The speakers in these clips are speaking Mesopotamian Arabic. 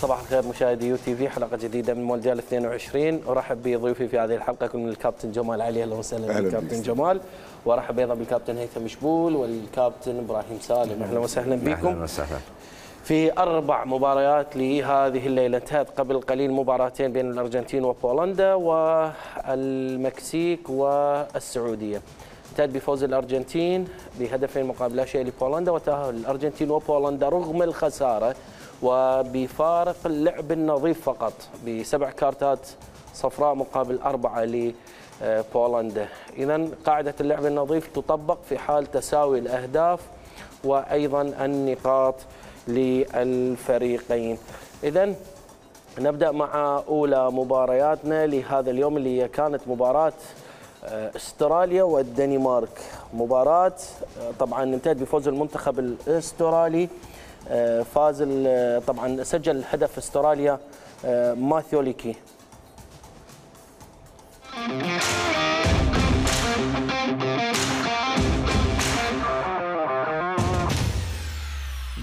صباح الخير مشاهدي يو تي في، حلقه جديده من مونديال 22. ارحب بضيوفي في هذه الحلقه يكون الكابتن جمال علي. اهلا وسهلا بالكابتن جمال، وارحب ايضا بالكابتن هيثم شبول والكابتن ابراهيم سالم. اهلا وسهلا بكم. اهلا وسهلا. في 4 مباريات لهذه الليله، انتهت قبل قليل مباراتين بين الارجنتين وبولندا والمكسيك والسعوديه. انتهت بفوز الارجنتين بهدفين مقابل لا شيء لبولندا، وتأهل الارجنتين وبولندا رغم الخساره وبفارق اللعب النظيف فقط ب7 كارتات صفراء مقابل 4 لبولندا. إذن قاعدة اللعب النظيف تطبق في حال تساوي الأهداف وأيضا النقاط للفريقين. إذن نبدأ مع أولى مبارياتنا لهذا اليوم، اللي كانت مباراة استراليا والدنمارك. مباراة طبعا انتهت بفوز المنتخب الاسترالي. فاز طبعا سجل هدف استراليا ماثيو ليكي.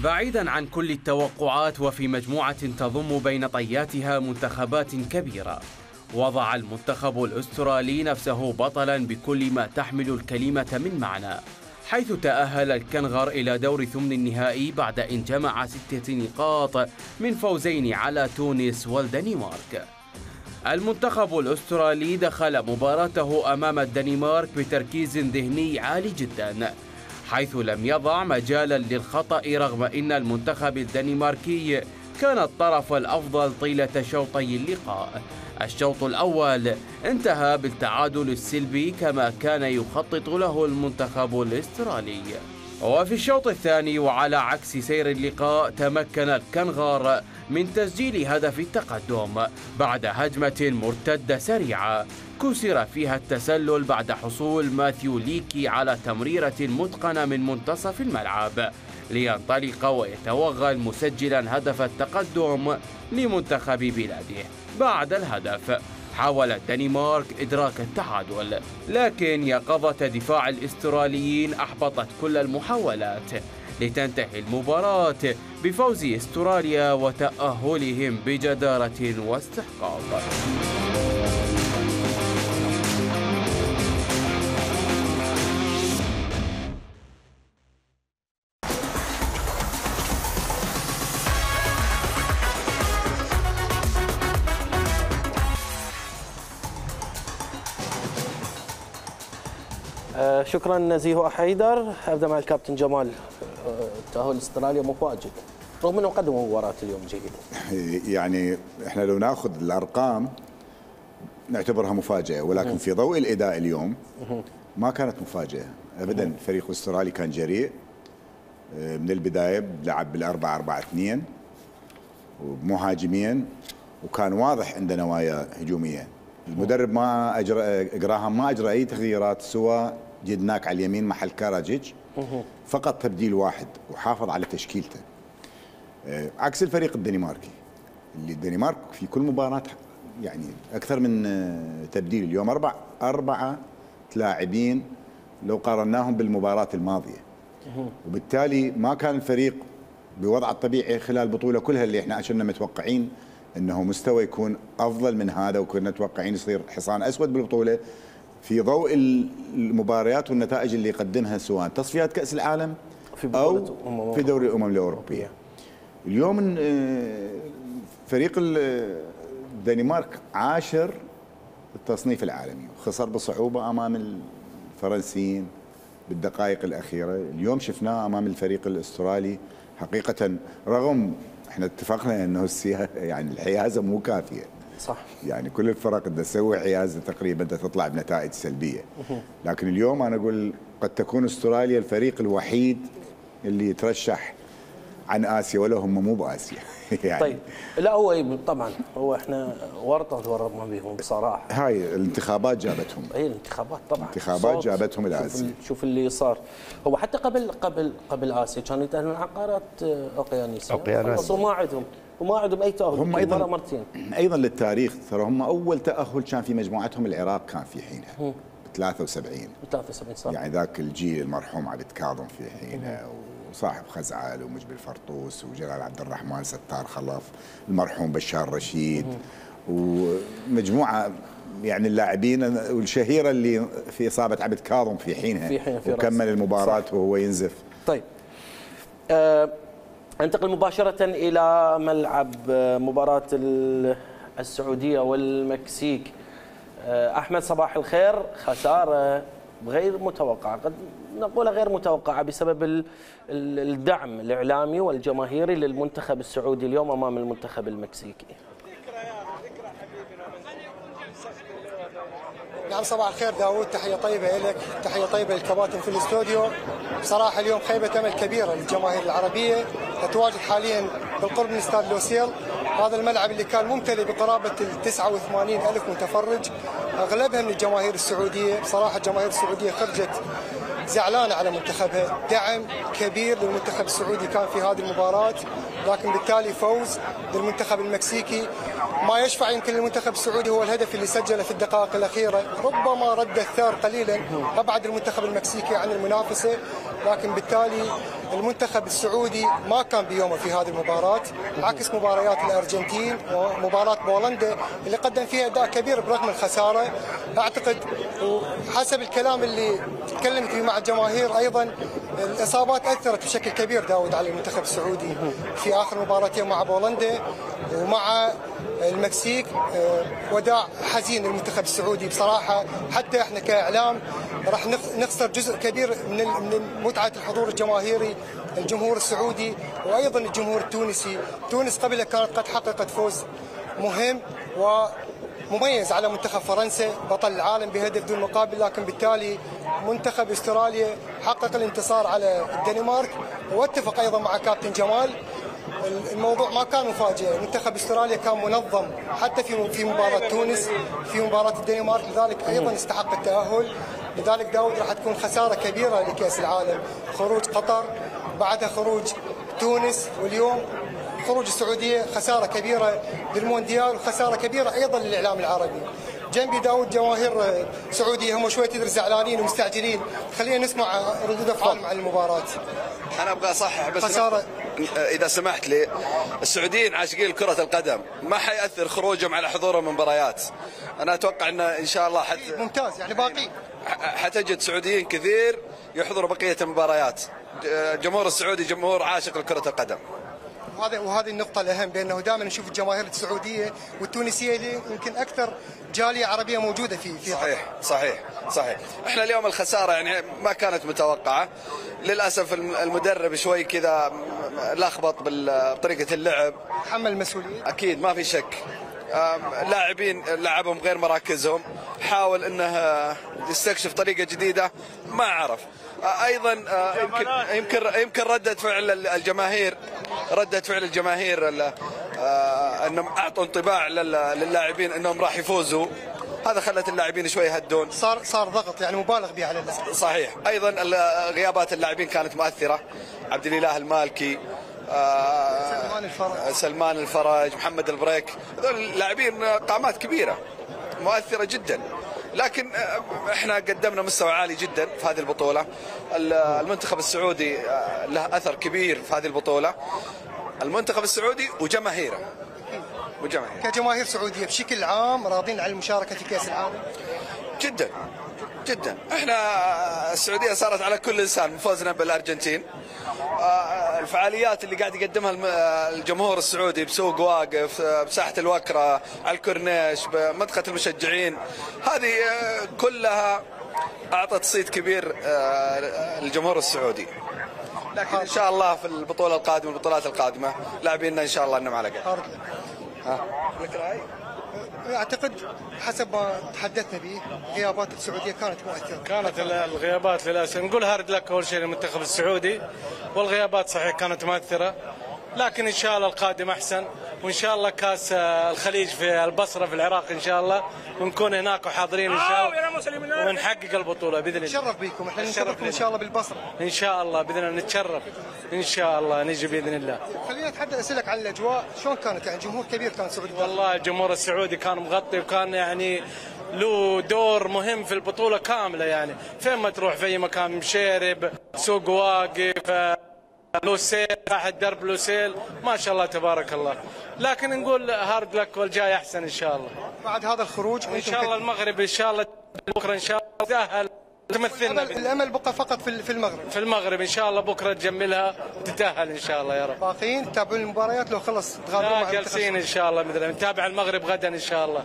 بعيدا عن كل التوقعات وفي مجموعة تضم بين طياتها منتخبات كبيرة، وضع المنتخب الأسترالي نفسه بطلا بكل ما تحمل الكلمة من معنى، حيث تأهل الكنغر إلى دور ثمن النهائي بعد أن جمع 6 نقاط من فوزين على تونس والدنمارك. المنتخب الأسترالي دخل مباراته أمام الدنمارك بتركيز ذهني عالي جدا، حيث لم يضع مجالا للخطأ، رغم أن المنتخب الدنماركي كان الطرف الأفضل طيلة شوطي اللقاء. الشوط الأول انتهى بالتعادل السلبي كما كان يخطط له المنتخب الاسترالي، وفي الشوط الثاني وعلى عكس سير اللقاء تمكن الكنغر من تسجيل هدف التقدم بعد هجمة مرتدة سريعة كسر فيها التسلل بعد حصول ماثيو ليكي على تمريرة متقنة من منتصف الملعب لينطلق ويتوغل مسجلا هدف التقدم لمنتخب بلاده. بعد الهدف حاول الدنمارك إدراك التعادل، لكن يقظة دفاع الاستراليين أحبطت كل المحاولات لتنتهي المباراة بفوز استراليا وتأهلهم بجدارة واستحقاق. شكرا نزيه حيدر. ابدا مع الكابتن جمال. تأهل استراليا مفاجئ رغم انه قدموا مباراة اليوم جيدة. يعني احنا لو ناخذ الارقام نعتبرها مفاجأة، ولكن في ضوء الاداء اليوم ما كانت مفاجأة ابدا. الفريق الاسترالي كان جريء من البداية، لعب بال4-4-2 ومهاجمين، وكان واضح عنده نوايا هجومية. المدرب جراهام ما اجرى اي تغييرات سوى جدناك على اليمين محل كاراجيتش، فقط تبديل واحد وحافظ على تشكيلته، عكس الفريق الدنماركي اللي الدنمارك في كل مباراة يعني اكثر من تبديل. اليوم أربعة لاعبين لو قارناهم بالمباراة الماضية، وبالتالي ما كان الفريق بوضعه الطبيعي خلال البطولة كلها، اللي احنا كنا متوقعين انه مستوى يكون افضل من هذا، وكنا متوقعين يصير حصان اسود بالبطوله في ضوء المباريات والنتائج اللي يقدمها سواء تصفيات كاس العالم او في دوري الامم الاوروبيه. اليوم فريق الدنمارك 10 التصنيف العالمي، وخسر بصعوبه امام الفرنسيين بالدقائق الاخيره. اليوم شفناه امام الفريق الاسترالي حقيقه، رغم احنا اتفقنا انه يعني الحيازه مو كافيه، صح، يعني كل الفرق بدها تسوي حيازه تقريبا بدها تطلع بنتائج سلبيه، لكن اليوم انا اقول قد تكون استراليا الفريق الوحيد اللي يترشح عن اسيا ولا هم مو باسيا. يعني طيب لا هو طبعا هو احنا ورطه تورطنا بهم بصراحه. هاي الانتخابات جابتهم. اي الانتخابات طبعا. الانتخابات جابتهم الى اسيا. شوف اللي صار. هو حتى قبل اسيا كانوا يتاهلون عن قارات اوقيانوسيا. خلصوا وما عندهم اي تاهل. هم ايضا مرتين. ايضا للتاريخ ترى هم اول تاهل كان في مجموعتهم العراق كان في حينها. 73 صح. يعني ذاك الجيل المرحوم علي كاظم في حينه وصاحب خزعل ومجبل فرطوس وجلال عبد الرحمن ستار خلف المرحوم بشار رشيد ومجموعه يعني اللاعبين والشهيره اللي في اصابه عبد كاظم في حينها وكمل المباراه وهو ينزف. طيب انتقل مباشره الى ملعب مباراه السعوديه والمكسيك. احمد صباح الخير. خساره غير متوقعه، قد نقول غير متوقعه بسبب الدعم الاعلامي والجماهيري للمنتخب السعودي اليوم امام المنتخب المكسيكي. نعم صباح الخير داوود، تحيه طيبه لك، تحيه طيبه للكباتن في الاستوديو. بصراحه اليوم خيبه امل كبيره للجماهير العربيه، تتواجد حاليا بالقرب من استاد لوسيل. هذا الملعب اللي كان ممتلئ بقرابه 89,000 متفرج، اغلبها من الجماهير السعوديه. بصراحه الجماهير السعوديه خرجت زعلانه على منتخبها، دعم كبير للمنتخب السعودي كان في هذه المباراه، لكن بالتالي فوز للمنتخب المكسيكي ما يشفع يمكن للمنتخب السعودي هو الهدف اللي سجله في الدقائق الاخيره، ربما رد الثار قليلا ابعد المنتخب المكسيكي عن المنافسه، لكن بالتالي المنتخب السعودي ما كان بيومه في هذه المباراه، عكس مباريات الارجنتين ومباراه بولندا اللي قدم فيها اداء كبير برغم الخساره. اعتقد وحسب الكلام اللي تكلمت فيه مع الجماهير ايضا الاصابات اثرت بشكل كبير داود على المنتخب السعودي في اخر مباراتين مع بولندا ومع المكسيك. وداع حزين للمنتخب السعودي بصراحه، حتى احنا كاعلام راح نخسر جزء كبير من متعه الحضور الجماهيري، الجمهور السعودي وايضا الجمهور التونسي. تونس قبل كانت قد حققت فوز مهم ومميز على منتخب فرنسا بطل العالم بهدف دون مقابل، لكن بالتالي منتخب استراليا حقق الانتصار على الدنمارك. واتفق ايضا مع كابتن جمال، الموضوع ما كان مفاجئ، منتخب استراليا كان منظم حتى في مباراة تونس، في مباراة الدنمارك، لذلك ايضا استحق التأهل. لذلك داود راح تكون خسارة كبيرة لكأس العالم، خروج قطر بعدها خروج تونس واليوم خروج السعودية، خسارة كبيرة للمونديال وخسارة كبيرة ايضا للاعلام العربي. جنبي داود جماهير سعودية هم شوي تدري زعلانين ومستعجلين، خلينا نسمع ردود افعالهم عن المباراة. انا ابغى اصحح بس خسارة اذا سمحت لي، السعوديين عاشقين كرة القدم ما حيأثر خروجهم على حضورهم مباريات. انا اتوقع ان شاء الله ممتاز يعني باقي حتجد سعوديين كثير يحضروا بقية المباريات. الجمهور السعودي جمهور عاشق لكرة القدم. وهذه النقطة الأهم، بأنه دائما نشوف الجماهير السعودية والتونسية اللي يمكن أكثر جالية عربية موجودة في صحيح. احنا اليوم الخسارة يعني ما كانت متوقعة، للأسف المدرب شوي كذا لخبط بطريقة اللعب، تحمل المسؤولية أكيد ما في شك. لاعبين لعبهم غير مراكزهم، حاول انه يستكشف طريقة جديدة ما عرف. ايضا يمكن ردة فعل الجماهير انهم اعطوا انطباع للاعبين انهم راح يفوزوا، هذا خلت اللاعبين شوي يهدون، صار ضغط يعني مبالغ به على اللاعبين. صحيح. ايضا غيابات اللاعبين كانت مؤثرة، عبد الاله المالكي، سلمان الفرج، محمد البريك، هذول لاعبين قامات كبيرة مؤثرة جدا، لكن احنا قدمنا مستوى عالي جدا في هذه البطولة. المنتخب السعودي له أثر كبير في هذه البطولة، المنتخب السعودي وجماهيره. كجماهير سعودية بشكل عام راضين عن المشاركة في كأس العالم؟ جدا. احنا السعودية صارت على كل لسان فوزنا بالأرجنتين. الفعاليات اللي قاعد يقدمها الجمهور السعودي بسوق واقف، بساحة الوكرة، على الكورنيش، بمنطقة المشجعين، هذه كلها أعطت صيت كبير للجمهور السعودي. لكن إن شاء الله في البطولات القادمة لاعبيننا إن شاء الله أنهم على قد. لك رأي؟ أعتقد حسب ما تحدثنا به غيابات السعودية كانت مؤثرة. كانت الغيابات للأسف، نقول هارد لك أول شيء للمنتخب السعودي، والغيابات صحيح كانت مؤثرة، لكن ان شاء الله القادم احسن، وان شاء الله كاس الخليج في البصره في العراق ان شاء الله، ونكون هناك وحاضرين ان شاء الله ونحقق البطوله باذن الله. نتشرف بكم، احنا نشرفكم ان شاء الله بالبصره. ان شاء الله باذن الله نتشرف ان شاء الله نجي باذن الله. خلينا نتحدث، اسالك عن الاجواء شلون كانت؟ يعني جمهور كبير كان سعودي. والله الجمهور السعودي كان مغطي، وكان يعني له دور مهم في البطوله كامله، يعني فين ما تروح في اي مكان، مشيرب، سوق واقف، لوسيل، تحت درب لوسيل، ما شاء الله تبارك الله. لكن نقول هارد لك والجاي احسن ان شاء الله. بعد هذا الخروج ان شاء الله المغرب ان شاء الله بكره ان شاء الله تأهل تمثلنا. الامل بقى فقط في المغرب. في المغرب ان شاء الله بكره تجملها وتتأهل ان شاء الله يا رب. باقيين تتابعون المباريات لو خلص تغادرون مع جالسين ان شاء الله باذن الله، نتابع المغرب غدا ان شاء الله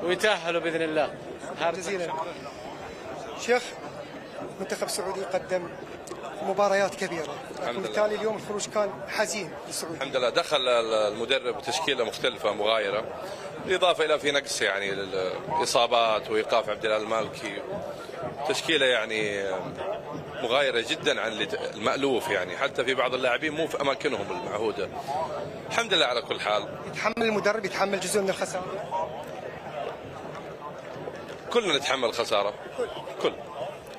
ويتأهلوا باذن الله. جزيلا. شيخ، منتخب سعودي قدم مباريات كبيرة، وبالتالي اليوم الخروج كان حزين للسعودي. الحمد لله دخل المدرب تشكيلة مختلفة مغايرة، بالإضافة إلى في نقص يعني الإصابات وإيقاف عبد الله المالكي، تشكيلة يعني مغايرة جدا عن المألوف، يعني حتى في بعض اللاعبين مو في أماكنهم المعهودة. الحمد لله على كل حال. يتحمل المدرب، يتحمل جزء من الخسارة؟ كلنا نتحمل خسارة، كل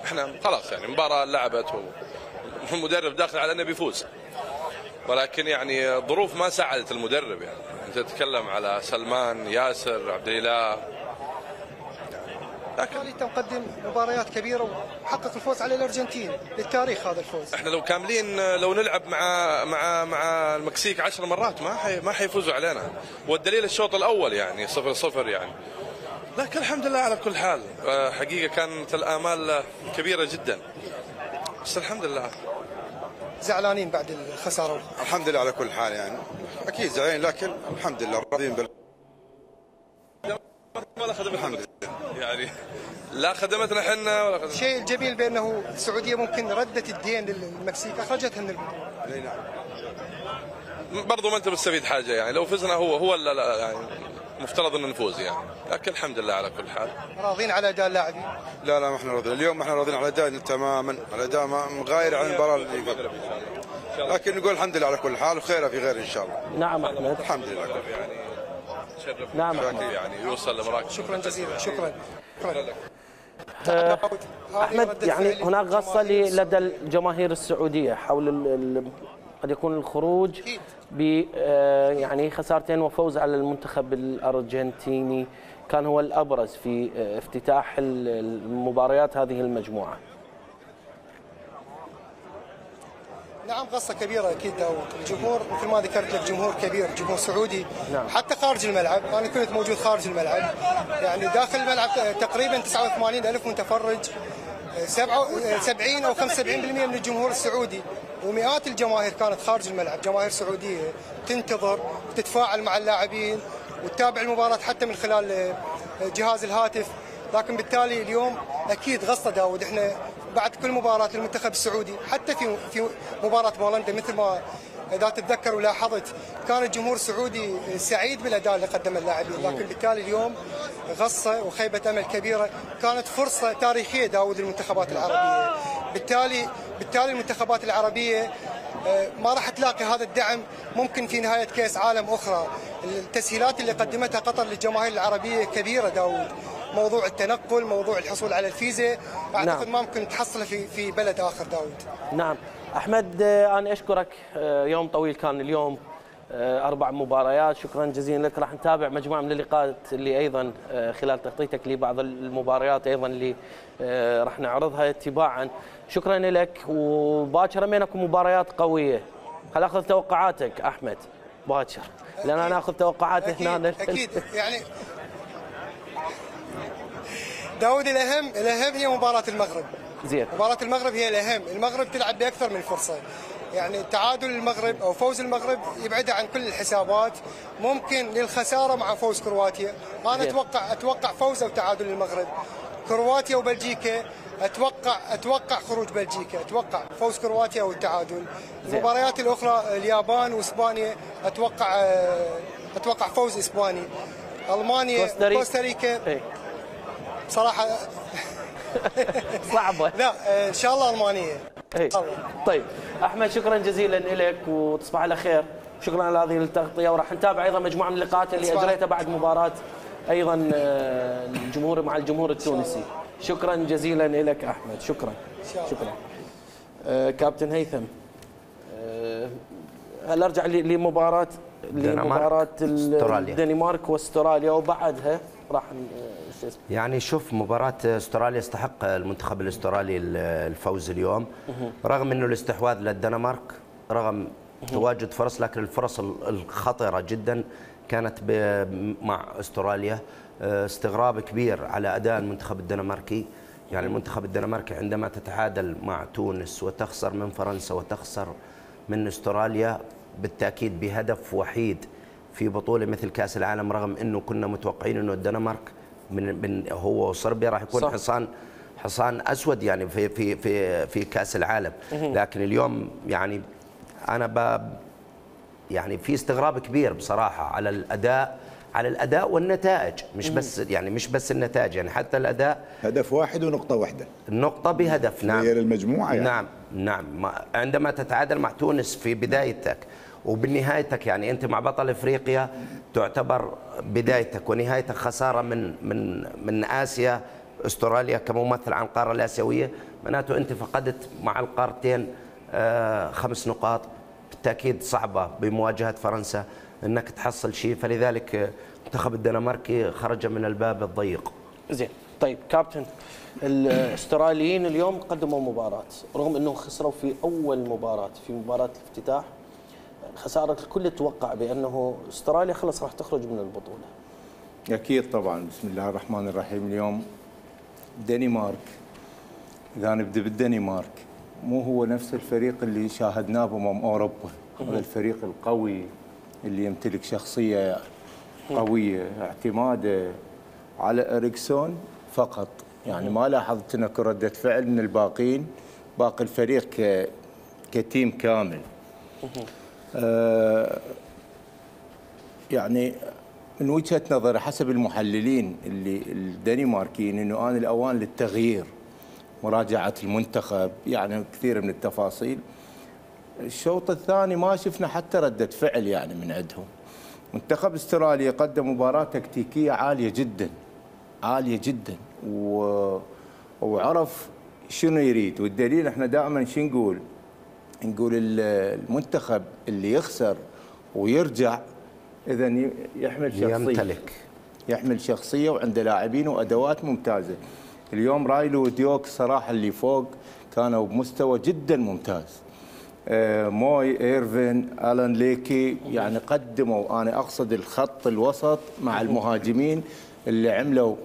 احنا خلاص يعني مباراة لعبت والمدرب داخل على انه بيفوز، ولكن يعني الظروف ما ساعدت المدرب. يعني انت تتكلم على سلمان، ياسر، عبد الاله، لكن انت مقدم مباريات كبيره وحقق الفوز على الارجنتين للتاريخ. هذا الفوز احنا لو كاملين لو نلعب مع المكسيك 10 مرات ما حيفوزوا علينا، والدليل الشوط الاول يعني 0-0 يعني. لكن الحمد لله على كل حال، حقيقه كانت الامال كبيره جدا، بس الحمد لله. زعلانين بعد الخساره؟ الحمد لله على كل حال، يعني اكيد زعلانين، لكن الحمد لله راضيين ولا خدمتنا الحمد لله، يعني لا خدمتنا احنا ولا خدمتنا. الشيء الجميل بانه السعوديه ممكن ردت الدين للمكسيك، اخرجتها من البطوله. نعم. برضو ما انت مستفيد حاجه، يعني لو فزنا هو لا يعني مفترض ان نفوز يعني، لكن الحمد لله على كل حال. راضين على اداء اللاعبين؟ لا ما احنا راضيين اليوم، احنا راضيين على اداء تماما، على اداء غاير عن المباراه اللي قبل، لكن نقول الحمد لله على كل حال، وخيره في غير ان شاء الله. نعم احمد. الحمد لله. يعني تشرف. نعم احمد. يعني يوصل لمراكز. شكرا جزيلا. شكرا لك. احمد، يعني هناك غصه لدى الجماهير السعوديه حول قد يكون الخروج ب يعني خسارتين وفوز على المنتخب الارجنتيني كان هو الابرز في افتتاح المباريات هذه المجموعه. نعم، قصة كبيرة أكيد داود. الجمهور مثل ما ذكرت لك جمهور كبير، جمهور سعودي. نعم. حتى خارج الملعب، أنا كنت موجود خارج الملعب، يعني داخل الملعب تقريبا 89,000 متفرج، 70 أو 75% من الجمهور السعودي، ومئات الجماهير كانت خارج الملعب، جماهير سعودية تنتظر وتتفاعل مع اللاعبين وتتابع المباراة حتى من خلال جهاز الهاتف. لكن بالتالي اليوم أكيد غصة داود، احنا بعد كل مباراة للمنتخب السعودي، حتى في مباراة بولندا مثل ما إذا تتذكر ولاحظت كان الجمهور السعودي سعيد بالأداء اللي قدمه اللاعبين، لكن بالتالي اليوم غصة وخيبة أمل كبيرة. كانت فرصة تاريخية داود للمنتخبات العربية، بالتالي المنتخبات العربية ما راح تلاقي هذا الدعم ممكن في نهاية كأس عالم أخرى. التسهيلات اللي قدمتها قطر للجماهير العربية كبيرة داود، موضوع التنقل، موضوع الحصول على الفيزا، أعتقد ما ممكن تحصله في بلد آخر داود. نعم أحمد، أنا أشكرك، يوم طويل كان اليوم، 4 مباريات، شكرا جزيلا لك. راح نتابع مجموعة من اللقاءات اللي أيضا خلال تغطيتك لبعض المباريات أيضا اللي راح نعرضها تباعا. شكرا لك، وباكر بينكم مباريات قوية. خل أخذ توقعاتك أحمد باكر، لأن أنا أخذ توقعات هنا. أكيد يعني داود، الأهم هي مباراة المغرب. زين. مباراة المغرب هي الأهم، المغرب تلعب بأكثر من فرصة، يعني تعادل المغرب أو فوز المغرب يبعدها عن كل الحسابات، ممكن للخسارة مع فوز كرواتيا. أنا أتوقع فوز أو تعادل المغرب. كرواتيا وبلجيكا أتوقع خروج بلجيكا، أتوقع فوز كرواتيا أو التعادل. المباريات الأخرى اليابان وإسبانيا أتوقع فوز إسباني. ألمانيا وكوستاريكا صراحة صعبة. لا إن شاء الله ألمانية. اي طيب احمد شكرا جزيلا لك وتصبح على خير. شكرا على هذه التغطيه، وراح نتابع ايضا مجموعه من اللقاءات اللي اجريتها بعد مباراه ايضا الجمهور مع الجمهور التونسي. شكرا جزيلا لك احمد. شكرا. كابتن هيثم، هل ارجع لمباراه الدنمارك واستراليا وبعدها راح يعني شوف مباراة استراليا استحق المنتخب الاسترالي الفوز اليوم، رغم انه الاستحواذ للدنمارك، رغم تواجد فرص، لكن الفرص الخطرة جدا كانت مع استراليا. استغراب كبير على اداء المنتخب الدنماركي. يعني المنتخب الدنماركي عندما تتعادل مع تونس وتخسر من فرنسا وتخسر من استراليا بالتاكيد بهدف وحيد في بطولة مثل كأس العالم، رغم انه كنا متوقعين انه الدنمارك من هو وصربيا راح يكون حصان اسود يعني في كأس العالم. لكن اليوم يعني انا يعني في استغراب كبير بصراحة على الاداء والنتائج، مش بس النتائج، يعني حتى الاداء. هدف واحد ونقطة واحدة، النقطة بهدف. نعم غير المجموعة يعني. نعم عندما تتعادل مع تونس في بدايتك وبنهايتك، يعني انت مع بطل افريقيا تعتبر بدايتك ونهايتك خساره من اسيا، استراليا كممثل عن القاره الاسيويه، معناته انت فقدت مع القارتين 5 نقاط. بالتاكيد صعبه بمواجهه فرنسا انك تحصل شيء، فلذلك المنتخب الدنماركي خرج من الباب الضيق. زين طيب كابتن، الاستراليين اليوم قدموا مباراه رغم انهم خسروا في اول مباراه، في مباراه الافتتاح خساره. الكل توقع بانه استراليا خلص راح تخرج من البطوله. اكيد طبعا. بسم الله الرحمن الرحيم. اليوم الدنمارك، اذا نبدا بالدنمارك، مو هو نفس الفريق اللي شاهدناه اوروبا. هذا الفريق القوي اللي يمتلك شخصيه قويه، اعتماده على اريكسون فقط. يعني ما لاحظت هناك رده فعل من الباقين، باقي الفريق كتيم كامل. يعني من وجهة نظري حسب المحللين الدنماركيين انه آن الاوان للتغيير، مراجعة المنتخب، يعني كثير من التفاصيل. الشوط الثاني ما شفنا حتى ردة فعل يعني من عندهم. منتخب استراليا قدم مباراة تكتيكية عالية جدا وعرف شنو يريد. والدليل احنا دائما شو نقول المنتخب اللي يخسر ويرجع اذا يحمل شخصيه وعنده لاعبين وادوات ممتازه. اليوم رايلو وديوك صراحه اللي فوق كانوا بمستوى جدا ممتاز. موي، ايرفين، الان ليكي، يعني قدموا، انا اقصد الخط الوسط مع المهاجمين اللي عملوا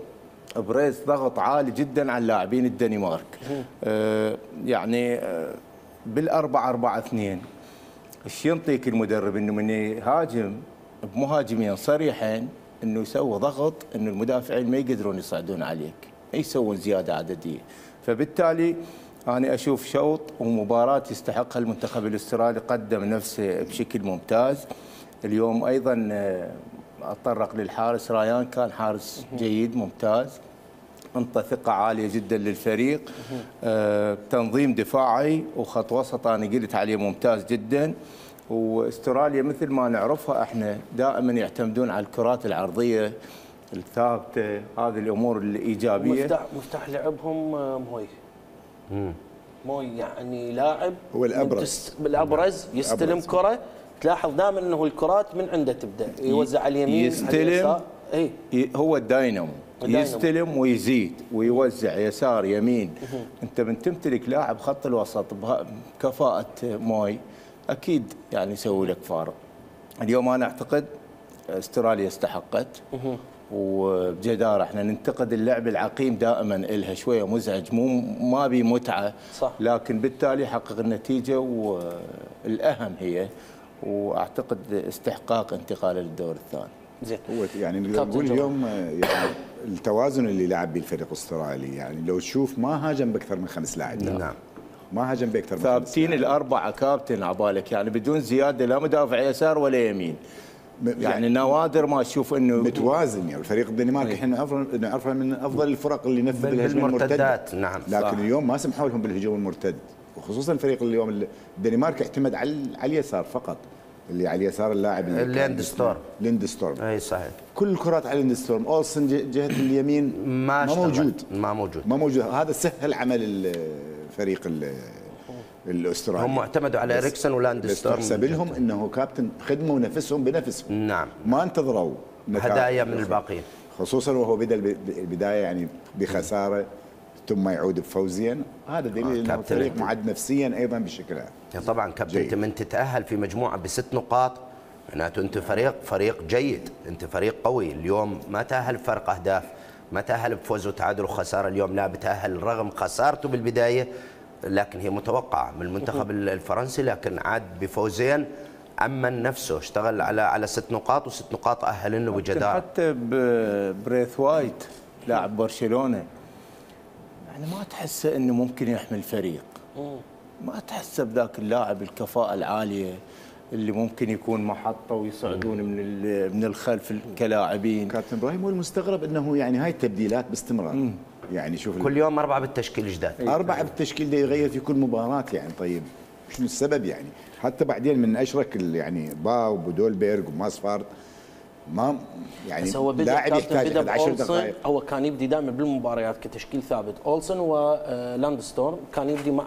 بريس ضغط عالي جدا على اللاعبين الدنمارك. يعني بال4-4-2 ايش ينطيك المدرب؟ انه من يهاجم بمهاجمين صريحين انه يسوي ضغط انه المدافعين ما يقدرون يصعدون عليك، ما يسوون زياده عدديه. فبالتالي انا اشوف شوط ومباراه يستحقها المنتخب الاسترالي، قدم نفسه بشكل ممتاز. اليوم ايضا اتطرق للحارس رايان، كان حارس جيد ممتاز، انطى ثقه عاليه جدا للفريق. تنظيم دفاعي وخط وسط انا قلت عليه ممتاز جدا. واستراليا مثل ما نعرفها احنا دائما يعتمدون على الكرات العرضيه الثابته، هذه الامور الايجابيه. مفتاح لعبهم موي يعني لاعب هو الابرز يستلم كره، تلاحظ دائما انه الكرات من عنده تبدا يوزع على اليمين يستلم. هو الداينامو يستلم ويزيد ويوزع يسار يمين. انت من تمتلك لاعب خط الوسط بكفاءه موي اكيد يعني يسوي لك فارق. اليوم انا اعتقد استراليا استحقت وبجداره. احنا ننتقد اللعب العقيم دائما، الها شويه مزعج، ما بي متعه صح. لكن بالتالي حقق النتيجه والاهم هي، واعتقد استحقاق انتقاله للدور الثاني. زين هو يعني نقدر نقول اليوم يعني التوازن اللي لعب به الفريق الاسترالي، يعني لو تشوف ما هاجم باكثر من 5 لاعبين. نعم ما هاجم باكثر من 5 ثابتين الاربعه كابتن عبالك، يعني بدون زياده، لا مدافع يسار ولا يمين. يعني نوادر ما تشوف انه متوازن. يعني الفريق الدنماركي احنا نعرفه من افضل الفرق اللي نفذ بالهجمه المرتده. نعم لكن صح. اليوم ما سمحوا لهم بالهجوم المرتد، وخصوصا فريق اليوم الدنمارك اعتمد على اليسار فقط، اللي على اليسار اللاعب ليندستورم. اي صحيح. كل الكرات على ليندستورم، اولسن جهه اليمين ما موجود. هذا سهل عمل الفريق الاسترالي. هم اعتمدوا على اريكسون ولاندستورم. يحسب لهم انه كابتن خدموا نفسهم بنفسهم. نعم. ما انتظروا هدايا من الباقيين. خصوصا وهو بدا البدايه يعني بخساره ثم يعود بفوزيا، هذا دليل انه الفريق معد نفسيا ايضا بشكل عام. طبعا كابتن انت من تتاهل في مجموعه ب6 نقاط معناته انت فريق جيد، انت فريق قوي. اليوم ما تاهل بفرق اهداف، ما تاهل بفوز وتعادل وخساره، اليوم لا بتاهل رغم خسارته بالبدايه لكن هي متوقعه من المنتخب الفرنسي، لكن عاد بفوزين امن نفسه، اشتغل على 6 نقاط و6 نقاط اهلنه بجداره. حتى بريث وايت لاعب برشلونه يعني ما تحسه انه ممكن يحمل فريق، ما تحسه بذاك اللاعب الكفاءه العاليه اللي ممكن يكون محطه ويصعدون من الخلف كلاعبين. كابتن ابراهيم، هو المستغرب انه يعني هاي التبديلات باستمرار. يعني شوف كل يوم 4 بالتشكيل جداد، 4 بالتشكيل ده يغير في كل مباراه يعني. طيب شنو السبب يعني؟ حتى بعدين من اشرك يعني باو وبودولبيرغ وماسفارد ما يعني لاعب يحتاج 11 دقائق. هو كان يبدي دائما بالمباريات كتشكيل ثابت، اولسن ولاندستورم كان يبدي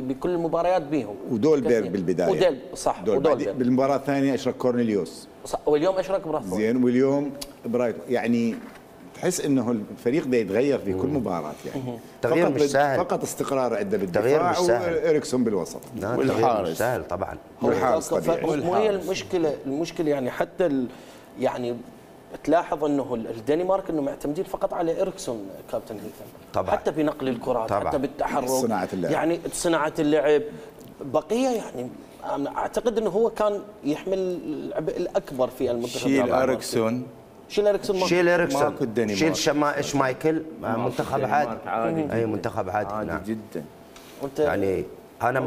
بكل المباريات بيهم، ودولبيرغ بالبدايه صح، ودولبيرغ بالمباراه الثانيه اشرك كورنيليوس صح، واليوم اشرك براثفورد زين، واليوم برايت. يعني تحس انه الفريق ده يتغير في كل مباراه يعني. تغيير مش سهل، فقط استقرار عنده بالدفاع وإريكسون بالوسط والحارس مش سهل طبعا. والحارس وهي المشكله يعني حتى يعني تلاحظ انه الدنمارك انه معتمدين فقط على إريكسون كابتن هيثم طبعا، حتى بنقل الكرات طبعا. حتى بالتحرك، صناعه اللعب، يعني صناعه اللعب. بقيه يعني اعتقد انه هو كان يحمل العبء الاكبر في المنتخب. شيل إريكسون شيل شمايكل، منتخب عادي. اي منتخب عادي نعم جدا. يعني انا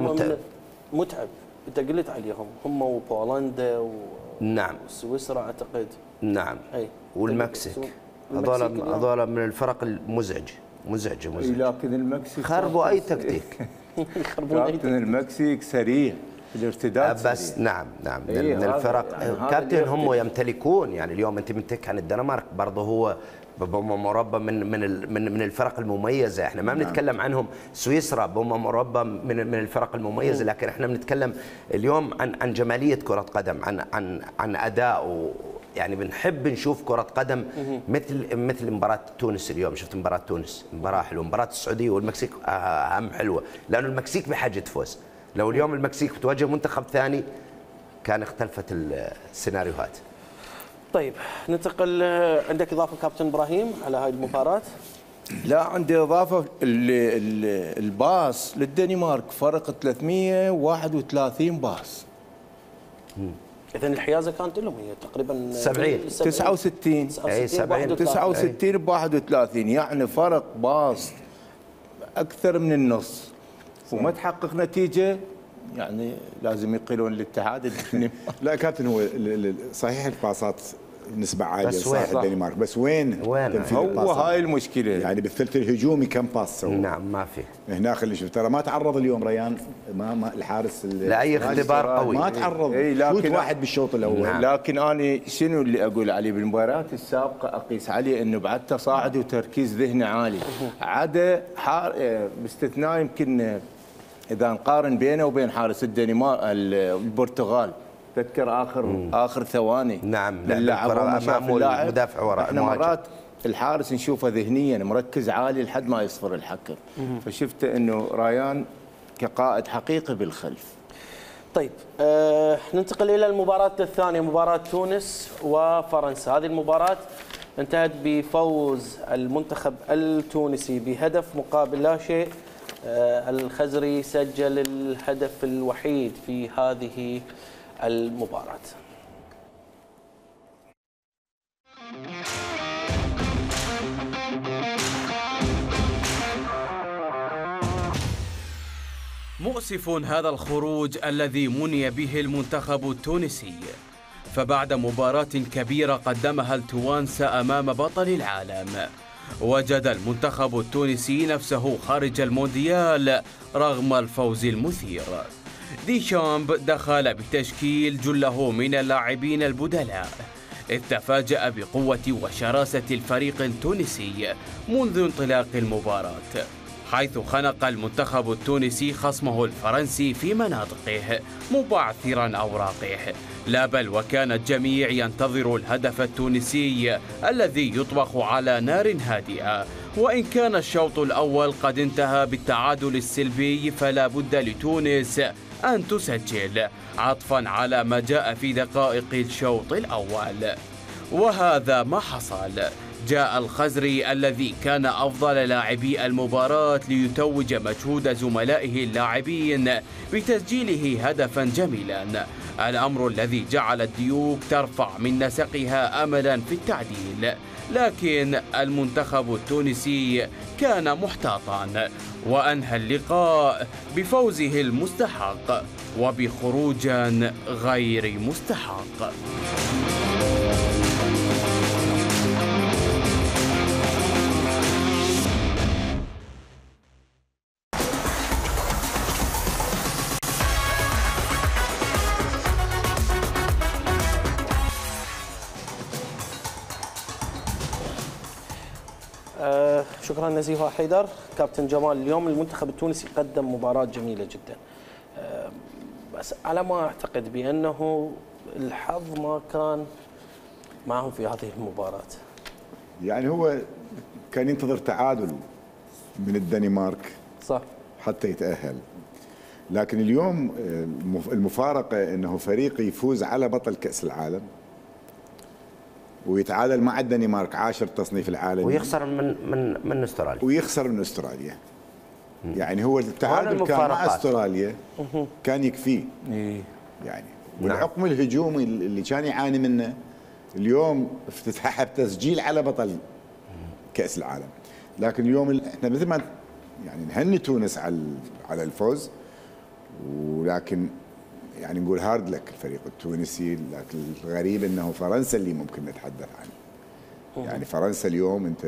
متعب. انت قلت عليهم هم وبولندا نعم وسويسرا اعتقد. نعم والمكسيك، هذول من الفرق المزعجه. لكن المكسيك خربوا اي تكتيك. كابتن المكسيك سريع الارتداد بس سريع. نعم من الفرق يعني كابتن هم يمتلكون. يعني اليوم انت بتحكي عن الدنمارك برضه هو مربى من الفرق المميزه، احنا ما بنتكلم عنهم. سويسرا هم مربى من الفرق المميزه، لكن احنا بنتكلم اليوم عن جماليه كره قدم، عن اداء. يعني بنحب نشوف كره قدم مثل مباراه تونس اليوم. شفت مباراه تونس، مباراه حلوه. مباراه السعوديه والمكسيك اهم حلوه، لانه المكسيك بحاجه تفوز. لو اليوم المكسيك بتواجه منتخب ثاني كان اختلفت السيناريوهات. طيب ننتقل، عندك اضافه كابتن ابراهيم على هاي المباراه؟ لا عندي اضافه. الباص للدنمارك فرق 331 باص. اذا الحيازه كانت لهم هي تقريبا 69 ب 31، يعني فرق باص اكثر من النص وما تحقق نتيجه. يعني لازم يقيلون الاتحاد لا كابتن، هو صحيح الباصات نسبة عالية لصالح الدنمارك، بس وين هو هاي المشكلة. يعني بالثلث الهجومي كم باص سووا؟ نعم ما في. هناك اللي شفت ترى ما تعرض اليوم ريان، ما الحارس لاي اختبار قوي ما تعرض. شوت واحد بالشوط الاول. نعم. لكن انا شنو اللي اقول عليه بالمباريات السابقة اقيس عليه انه بعد تصاعد وتركيز ذهني عالي، عدا باستثناء يمكن اذا نقارن بينه وبين حارس الدنمارك البرتغال. تذكر اخر ثواني نعم اللاعب مدافع وراء. احنا مرات الحارس نشوفه ذهنيا مركز عالي لحد ما يصفر الحكم، فشفت انه ريان كقائد حقيقي بالخلف. طيب ننتقل الى المباراه الثانيه، مباراه تونس وفرنسا. هذه المباراه انتهت بفوز المنتخب التونسي بهدف مقابل لا شيء. الخزري سجل الهدف الوحيد في هذه المباراة. مؤسف هذا الخروج الذي مني به المنتخب التونسي، فبعد مباراة كبيرة قدمها التوانسة أمام بطل العالم وجد المنتخب التونسي نفسه خارج المونديال رغم الفوز المثير. ديشامب دخل بتشكيل جله من اللاعبين البدلاء، إذ تفاجأ بقوة وشراسة الفريق التونسي منذ انطلاق المباراة، حيث خنق المنتخب التونسي خصمه الفرنسي في مناطقه مبعثرا أوراقه، لا بل وكان الجميع ينتظر الهدف التونسي الذي يطبخ على نار هادئة. وإن كان الشوط الأول قد انتهى بالتعادل السلبي، فلا بد لتونس أن تسجل عطفا على ما جاء في دقائق الشوط الأول، وهذا ما حصل. جاء الخزري الذي كان أفضل لاعبي المباراة ليتوج مجهود زملائه اللاعبين بتسجيله هدفا جميلا، الأمر الذي جعل الديوك ترفع من نسقها أملا في التعديل. لكن المنتخب التونسي كان محتاطا وأنهى اللقاء بفوزه المستحق وبخروج غير مستحق. شكرا نزيهة حيدر. كابتن جمال، اليوم المنتخب التونسي قدم مباراة جميلة جدا، بس على ما أعتقد بأنه الحظ ما كان معهم في هذه المباراة. يعني هو كان ينتظر تعادل من الدنمارك صح حتى يتأهل، لكن اليوم المفارقة أنه فريق يفوز على بطل كأس العالم ويتعادل مع الدنمارك 10 تصنيف العالمي ويخسر من استراليا يعني هو التعادل كان مع استراليا كان يكفيه يعني. والحكم الهجومي اللي كان يعاني منه اليوم افتتحها بتسجيل على بطل كأس العالم. لكن اليوم احنا مثل ما يعني نهني تونس على الفوز، ولكن يعني نقول هارد لك الفريق التونسي. لكن الغريب انه فرنسا اللي ممكن نتحدث عنه. يعني فرنسا اليوم انت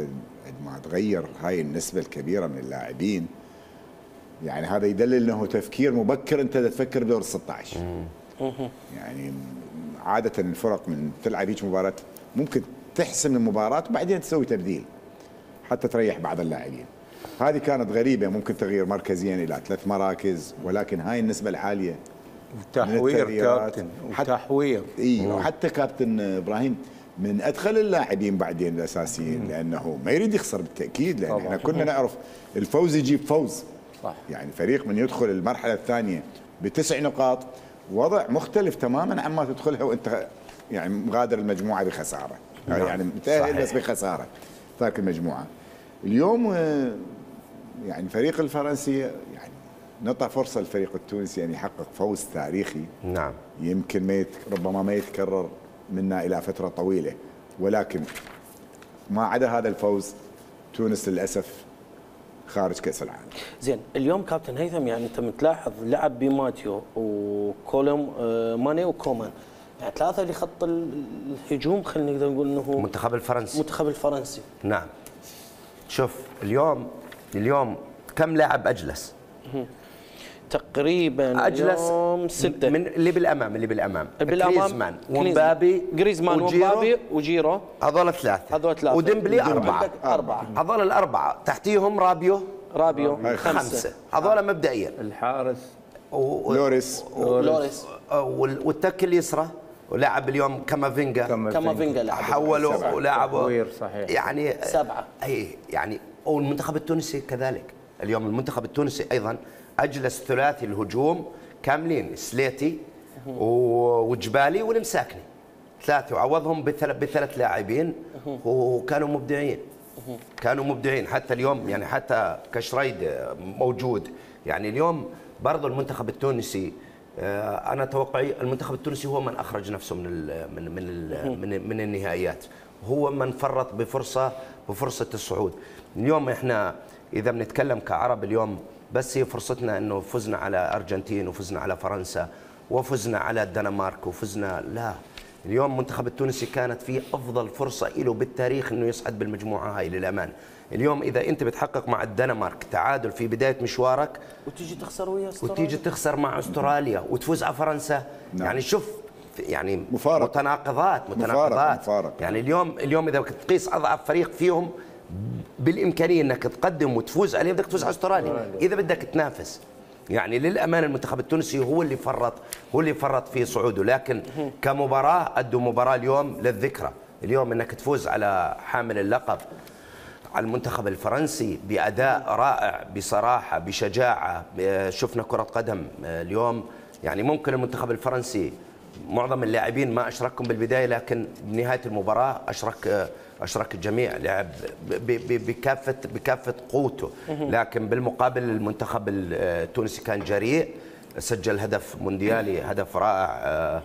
ما تغير هاي النسبه الكبيره من اللاعبين، يعني هذا يدلل انه تفكير مبكر، انت تفكر بدور 16. يعني عاده الفرق من تلعب هيك مباراه ممكن تحسم المباراه وبعدين تسوي تبديل حتى تريح بعض اللاعبين. هذه كانت غريبه، ممكن تغيير مركزين الى 3 مراكز، ولكن هاي النسبه العاليه وتحوير كابتن وتحوير. وحتى كابتن ابراهيم من ادخل اللاعبين بعدين الاساسيين، لانه ما يريد يخسر بالتاكيد، لان احنا كنا نعرف الفوز يجيب فوز. صح. يعني فريق من يدخل المرحله الثانيه ب9 نقاط وضع مختلف تماما عما تدخلها وانت يعني مغادر المجموعه بخساره. يعني متاهل بس بخساره ترك المجموعه. اليوم يعني الفريق الفرنسي يعني نعطى فرصه للفريق التونسي ان يحقق فوز تاريخي. نعم. يمكن ربما ما يتكرر منا الى فتره طويله، ولكن ما عدا هذا الفوز تونس للاسف خارج كاس العالم. زين، اليوم كابتن هيثم يعني انت متلاحظ لعب بماتيو وكولوم ماني وكومان، يعني 3 لخط الهجوم، خلينا نقدر نقول انه المنتخب الفرنسي. نعم. شوف اليوم كم لاعب اجلس؟ تقريبا اجلس اليوم 6 من اللي بالامام جريزمان ومبابي وجيرو هذول 3 وديمبلي 4 هذول ال4 تحتيهم رابيو 5 هذول مبدئيا. الحارس لوريس والتك اليسرى ولعب اليوم كامافينجا حولوا ولعبوا يعني 7. اي يعني والمنتخب التونسي كذلك. اليوم المنتخب التونسي ايضا اجلس ثلاثي الهجوم كاملين، سليتي وجبالي والمساكني 3 وعوضهم ب3 لاعبين وكانوا مبدعين. حتى اليوم يعني حتى كشريد موجود. يعني اليوم برضو المنتخب التونسي انا توقعي المنتخب التونسي هو من اخرج نفسه من النهائيات، هو من فرط بفرصه الصعود. اليوم احنا اذا بنتكلم كعرب اليوم بس هي فرصتنا انه فزنا على ارجنتين وفزنا على فرنسا وفزنا على الدنمارك وفزنا، لا اليوم المنتخب التونسي كانت فيه افضل فرصه له بالتاريخ انه يصعد بالمجموعه هاي للامانه. اليوم اذا انت بتحقق مع الدنمارك تعادل في بدايه مشوارك وتيجي تخسر ويا استراليا، وتيجي تخسر مع استراليا وتفوز على فرنسا، نعم. يعني شوف يعني مفارق. متناقضات. مفارق. يعني اليوم اذا بدك تقيس اضعف فريق فيهم بالامكانيه انك تقدم وتفوز عليه بدك تفوز على استراليا اذا بدك تنافس. يعني للامانه المنتخب التونسي هو اللي فرط في صعوده، لكن كمباراه ادوا مباراه اليوم للذكرى. اليوم انك تفوز على حامل اللقب على المنتخب الفرنسي باداء رائع بصراحه بشجاعه. شفنا كره قدم اليوم، يعني ممكن المنتخب الفرنسي معظم اللاعبين ما اشركهم بالبدايه، لكن بنهايه المباراه اشرك الجميع، لعب بكافه قوته. لكن بالمقابل المنتخب التونسي كان جريء، سجل هدف مونديالي، هدف رائع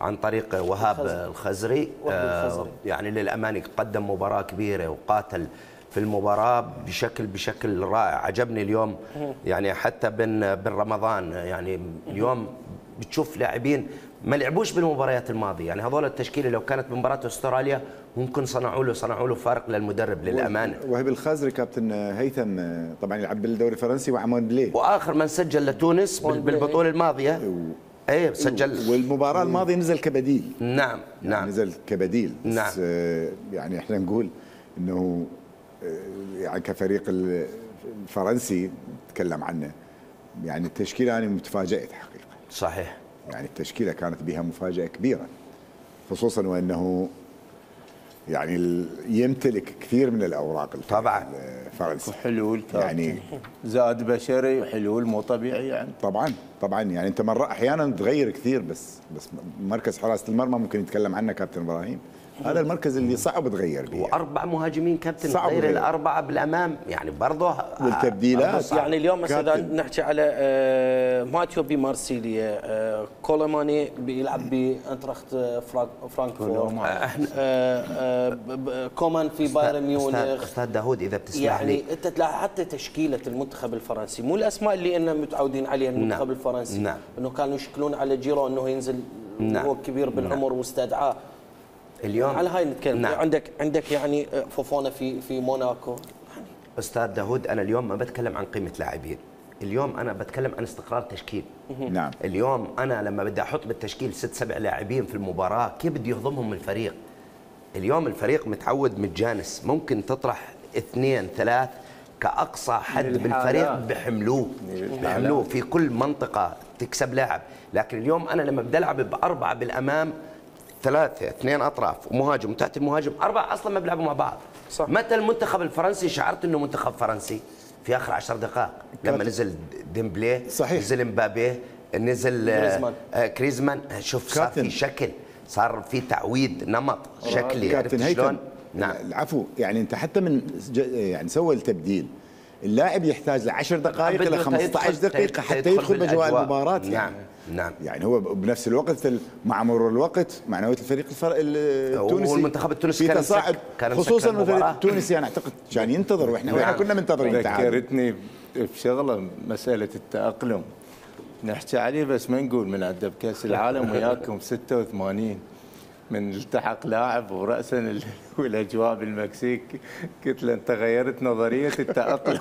عن طريق وهاب الخزري. يعني للامانه قدم مباراه كبيره وقاتل في المباراه بشكل رائع. عجبني اليوم يعني حتى بن رمضان، يعني اليوم بتشوف لاعبين ما لعبوش بالمباريات الماضيه، يعني هذول التشكيله لو كانت بمباراه استراليا ممكن صنعوا له فارق للمدرب للامانه. وهب الخازري كابتن هيثم طبعا يلعب بالدوري الفرنسي وعمان بليه، واخر من سجل لتونس بالبطوله الماضيه ايه سجل، والمباراه الماضيه نزل كبديل. نعم يعني نزل كبديل. نعم. بس يعني احنا نقول انه يعني كفريق الفرنسي نتكلم عنه، يعني التشكيله انا متفاجئت حقيقه. صحيح. يعني التشكيله كانت بها مفاجاه كبيره، خصوصا وانه يعني يمتلك كثير من الاوراق طبعا الفرنسي وحلول يعني زاد بشري وحلول مو طبيعي يعني. طبعا يعني انت مرة احيانا تغير كثير، بس مركز حراسه المرمى ممكن يتكلم عنه كابتن ابراهيم، هذا المركز اللي صعب تغير به. واربع مهاجمين كابتن غير الاربعه بالامام، يعني برضه والتبديلات. يعني اليوم مثلا نحكي على ماتيو بمارسيليا، كولوماني بيلعب بانتراخت فرانكفورت، كومان في بايرن ميونخ. استاذ داوود اذا بتسمح لي، يعني انت تلاحظ حتى تشكيله المنتخب الفرنسي مو الاسماء اللي انا متعودين عليها المنتخب الفرنسي. نعم. انه كانوا يشكلون على جيرو انه ينزل وهو كبير بالعمر واستدعاه. اليوم على هاي نتكلم. نعم. عندك يعني فوفونا في موناكو. استاذ داوود انا اليوم ما بتكلم عن قيمه لاعبين، اليوم انا بتكلم عن استقرار تشكيل. نعم. اليوم انا لما بدي احط بالتشكيل 6-7 لاعبين في المباراه كيف بدي يهضمهم الفريق؟ اليوم الفريق متعود متجانس، ممكن تطرح 2-3 كاقصى حد بالفريق بحملوه في كل منطقه تكسب لاعب. لكن اليوم انا لما بدي العب ب4 بالامام، 3 2 اطراف ومهاجم وتحت المهاجم 4 اصلا ما بيلعبوا مع بعض. صح. متى المنتخب الفرنسي شعرت انه منتخب فرنسي؟ في اخر 10 دقائق لما نزل ديمبلي، صحيح. نزل مبابي، نزل كريزمان. شوف صار في شكل، صار في تعويض نمط شكلي. عرفت شلون؟ نعم العفو. يعني انت حتى من يعني سوى التبديل، اللاعب يحتاج ل10 دقائق الى 15 دقيقه حتى يدخل باجواء المباراه. نعم. يعني هو بنفس الوقت مع مرور الوقت معنويات الفريق التونسي والمنتخب التونسي في تصاعد، خصوصا الفريق التونسي انا اعتقد كان ينتظر، واحنا كنا منتظرين. ذكرتني بشغله مساله التاقلم نحكي عليه، بس ما نقول من عدة بكاس العالم وياكم 86 من التحق لاعب ورأسا والاجواء بالمكسيك، قلت له انت غيرت نظريه التاقلم.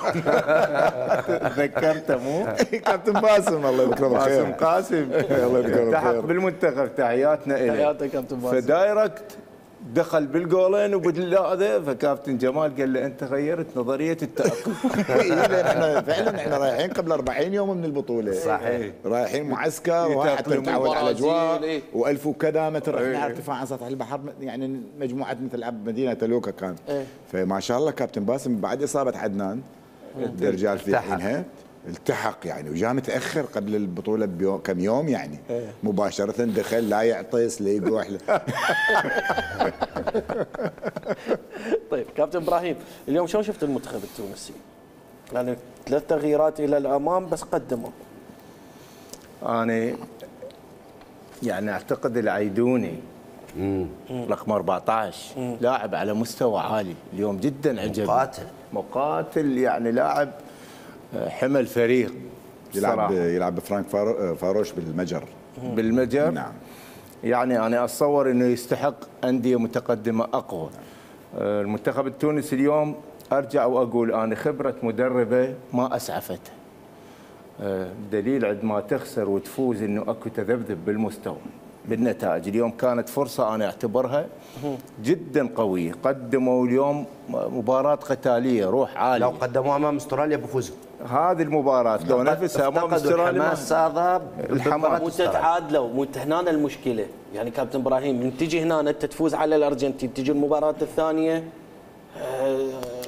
تذكرته مو؟ كابتن باسم الله يذكره بالخير. باسم قاسم الله يذكره بالخير التحق بالمنتخب. تحياتنا له. تحياتك كابتن باسم. فدايركت دخل بالجولين وبالهذا، فكابتن جمال قال له انت غيرت نظريه التاقلم. احنا فعلا احنا رايحين قبل 40 يوم من البطوله. صحيح. رايحين معسكر حتى نتعود على الاجواء و1000 وكذا متر، احنا ارتفاع عن سطح البحر، يعني مجموعه مثل مدينه لوكا كان. فما شاء الله كابتن باسم بعد اصابه عدنان الرجال في حينها التحق يعني، وجاء متاخر قبل البطوله بكم يوم يعني. مباشره دخل لا يعطس لا يقوح. طيب كابتن ابراهيم، اليوم شلون شفت المنتخب التونسي؟ يعني 3 تغييرات الى الامام بس قدموا. انا يعني اعتقد العيدوني رقم 14 لاعب على مستوى عالي اليوم، جدا عجبني. مقاتل يعني لاعب حمل فريق. يلعب بفرانك فاروش بالمجر. نعم. يعني انا اتصور انه يستحق انديه متقدمه اقوى. المنتخب التونسي اليوم ارجع واقول انا خبره مدربه ما اسعفته. دليل عندما تخسر وتفوز انه اكو تذبذب بالمستوى بالنتائج. اليوم كانت فرصه انا اعتبرها جدا قويه، قدموا اليوم مباراه قتاليه روح عاليه. لو قدموها امام استراليا بفوزوا. هذه المباراه لو نفسها امام استراليا الحماس هذا مو تتعادلوا، مو هنا المشكله. يعني كابتن ابراهيم من تجي هنا انت تفوز على الارجنتين، تجي المباراه الثانيه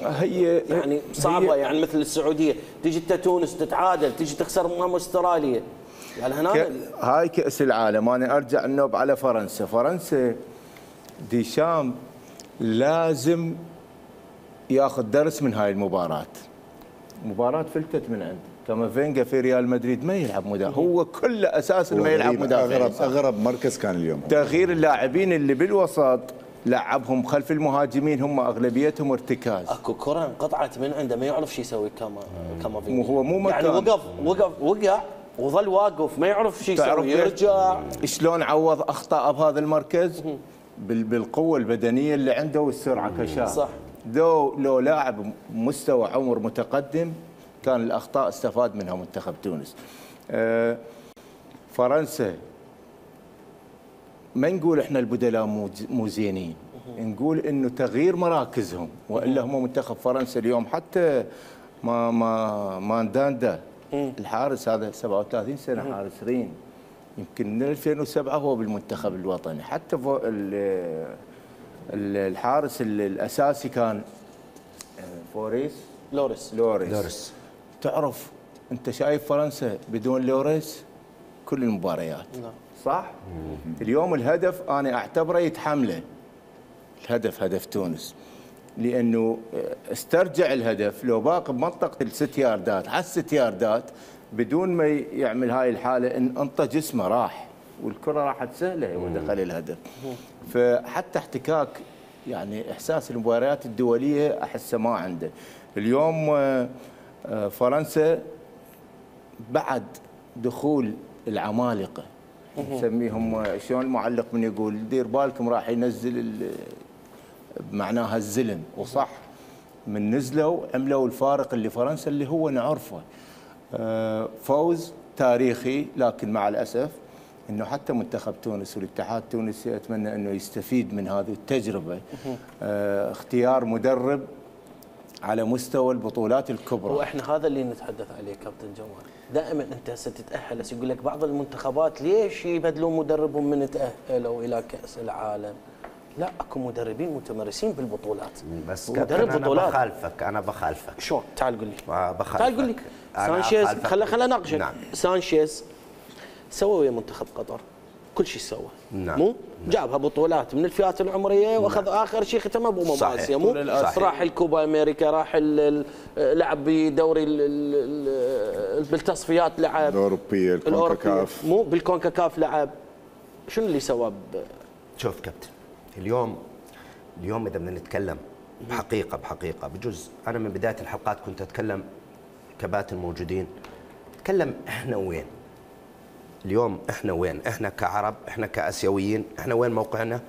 هي يعني صعبه، يعني مثل السعوديه، تجي انت تونس تتعادل، تجي تخسر امام استراليا. يعني هنا هاي كاس العالم. انا ارجع النوب على فرنسا. فرنسا ديشام لازم ياخذ درس من هاي المباراه. مباراه فلتت من عنده. كامافينجا في ريال مدريد ما يلعب مدافع، هو كل اساس ما يلعب مدافع. اغرب مركز كان اليوم. تغيير اللاعبين اللي بالوسط لعبهم خلف المهاجمين، هم اغلبيتهم ارتكاز. اكو كره انقطعت من عنده ما يعرف شو يسوي كامافينجا. هو مو مكان. يعني وقع وظل واقف ما يعرف شو يسوي، يرجع. شلون عوض اخطاء بهذا المركز؟ بالقوه البدنيه اللي عنده والسرعه كشاف. صح. لو لاعب مستوى عمر متقدم كان الاخطاء استفاد منها منتخب تونس. فرنسا ما نقول احنا البدلاء مو زينين، نقول انه تغيير مراكزهم، والا هم منتخب فرنسا اليوم حتى مانداندا الحارس هذا 37 سنه حارس رين، يمكن من 2007 هو بالمنتخب الوطني. حتى الحارس الاساسي كان لوريس. تعرف انت شايف فرنسا بدون لوريس كل المباريات. صح؟ اليوم الهدف انا اعتبره يتحمله. الهدف هدف تونس، لانه استرجع الهدف لو باقي بمنطقه الست ياردات، على الست ياردات بدون ما يعمل هاي الحاله ان انطى جسمه راح، والكره راحت سهله ودخل الهدف. فحتى احتكاك يعني احساس المباريات الدوليه احسه ما عنده. اليوم فرنسا بعد دخول العمالقه نسميهم، شلون المعلق من يقول دير بالكم راح ينزل معناها الزلم، وصح من نزلوا عملوا الفارق اللي فرنسا اللي هو نعرفه. فوز تاريخي، لكن مع الاسف انه حتى منتخب تونس والاتحاد التونسي اتمنى انه يستفيد من هذه التجربه. اختيار مدرب على مستوى البطولات الكبرى. واحنا هذا اللي نتحدث عليه كابتن جمال. دائما انت ستتاهل، يقول لك بعض المنتخبات ليش يبدلون مدربهم من تاهلوا الى كاس العالم؟ لا، اكو مدربين متمرسين بالبطولات. بس مدرب بطولات. انا بخالفك. شلون؟ تعال قول لي. بخالفك. تعال قول لي. سانشيز خلينا نناقشك. نعم. سانشيز سوى ويا منتخب قطر كل شيء سوى. نعم. مو جابها بطولات من الفئات العمريه، واخذ اخر شيء ختمها بامم اسيا. مو راح الكوبا امريكا، راح لعب بدوري بالتصفيات، لعب الاوروبيه الكونكاكاف، مو بالكونكاكاف لعب. شنو اللي سواه؟ شوف كابتن، اليوم اذا بدنا نتكلم بحقيقه بجوز انا من بدايه الحلقات كنت اتكلم كباتن موجودين، اتكلم احنا وين اليوم، احنا وين، احنا كعرب، احنا كاسيويين، احنا وين موقعنا،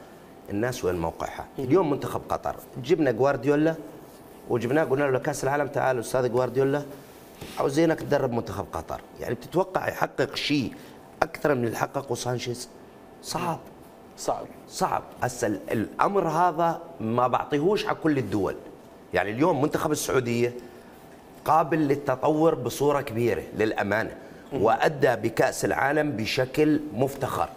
الناس وين موقعها. اليوم منتخب قطر جبنا جوارديولا وجبناه قلنا له كاس العالم تعال استاذ جوارديولا عاوزينك تدرب منتخب قطر. يعني بتتوقع يحقق شيء اكثر من اللي حققه سانشيز؟ صعب. هسه الامر هذا ما بعطيهوش على كل الدول. يعني اليوم منتخب السعوديه قابل للتطور بصوره كبيره للامانه، وادى بكاس العالم بشكل مفتخر،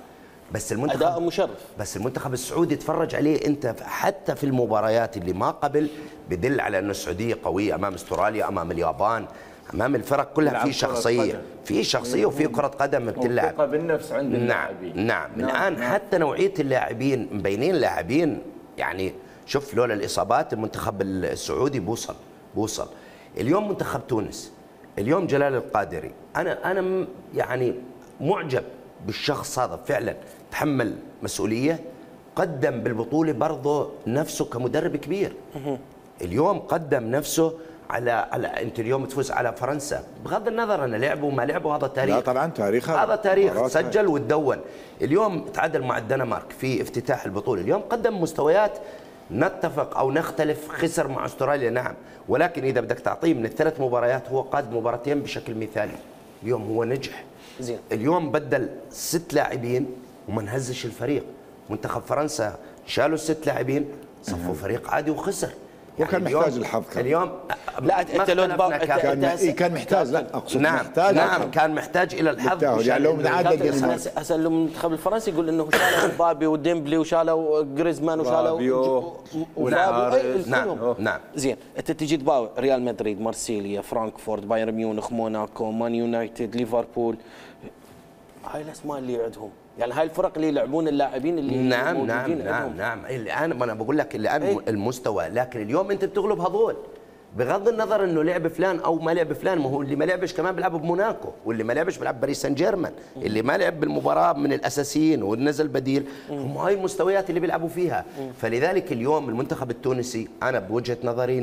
بس المنتخب اداء مشرف. بس المنتخب السعودي تفرج عليه انت حتى في المباريات اللي ما قبل، بدل على انه السعوديه قويه امام استراليا، امام اليابان، امام الفرق كلها في شخصيه وفي كره قدم بتلعب. ثقه بالنفس عند اللاعبين. نعم. الان حتى نوعيه اللاعبين مبينين لاعبين، يعني شوف لولا الاصابات المنتخب السعودي بوصل. اليوم منتخب تونس، اليوم جلال القادري، انا يعني معجب بالشخص هذا، فعلا تحمل مسؤوليه، قدم بالبطوله برضه نفسه كمدرب كبير. اليوم قدم نفسه على انت اليوم تفوز على فرنسا، بغض النظر ان لعبوا ما لعبوا هذا تاريخ. لا طبعا تاريخ، هذا تاريخ سجل وتدون. اليوم تعادل مع الدنمارك في افتتاح البطوله، اليوم قدم مستويات نتفق او نختلف، خسر مع استراليا نعم، ولكن اذا بدك تعطيه من الثلاث مباريات هو قاد مباراتين بشكل مثالي. اليوم هو نجح. زين. اليوم بدل 6 لاعبين وما نهزش الفريق. منتخب فرنسا شالوا 6 لاعبين صفوا فريق عادي وخسر. وكان محتاج الحظ اليوم لا انت لو كان محتاج، لا اقصد نعم محتاج، نعم كان محتاج الى الحظ. يعني لو متعادل هسه المنتخب الفرنسي يقول انه شالوا مبابي وديمبلي وشالوا جريزمان وشالوا نعم نعم. زين انت تجي تباوع ريال مدريد، مارسيليا، فرانكفورت، بايرن ميونخ، موناكو، مان يونايتد، ليفربول، هاي الاسماء اللي عندهم، يعني هاي الفرق اللي يلعبون اللاعبين اللي نعم موجودين نعم نعم. الان ما انا بقول لك الان المستوى، لكن اليوم انت بتغلب هذول بغض النظر انه لعب فلان او ما لعب فلان. ما هو اللي ما لعبش كمان بيلعب بموناكو، واللي ما لعبش بيلعب باريس سان جيرمان، اللي ما لعب بالمباراه من الاساسيين ونزل بديل، هم هاي المستويات اللي بيلعبوا فيها. فلذلك اليوم المنتخب التونسي انا بوجهه نظري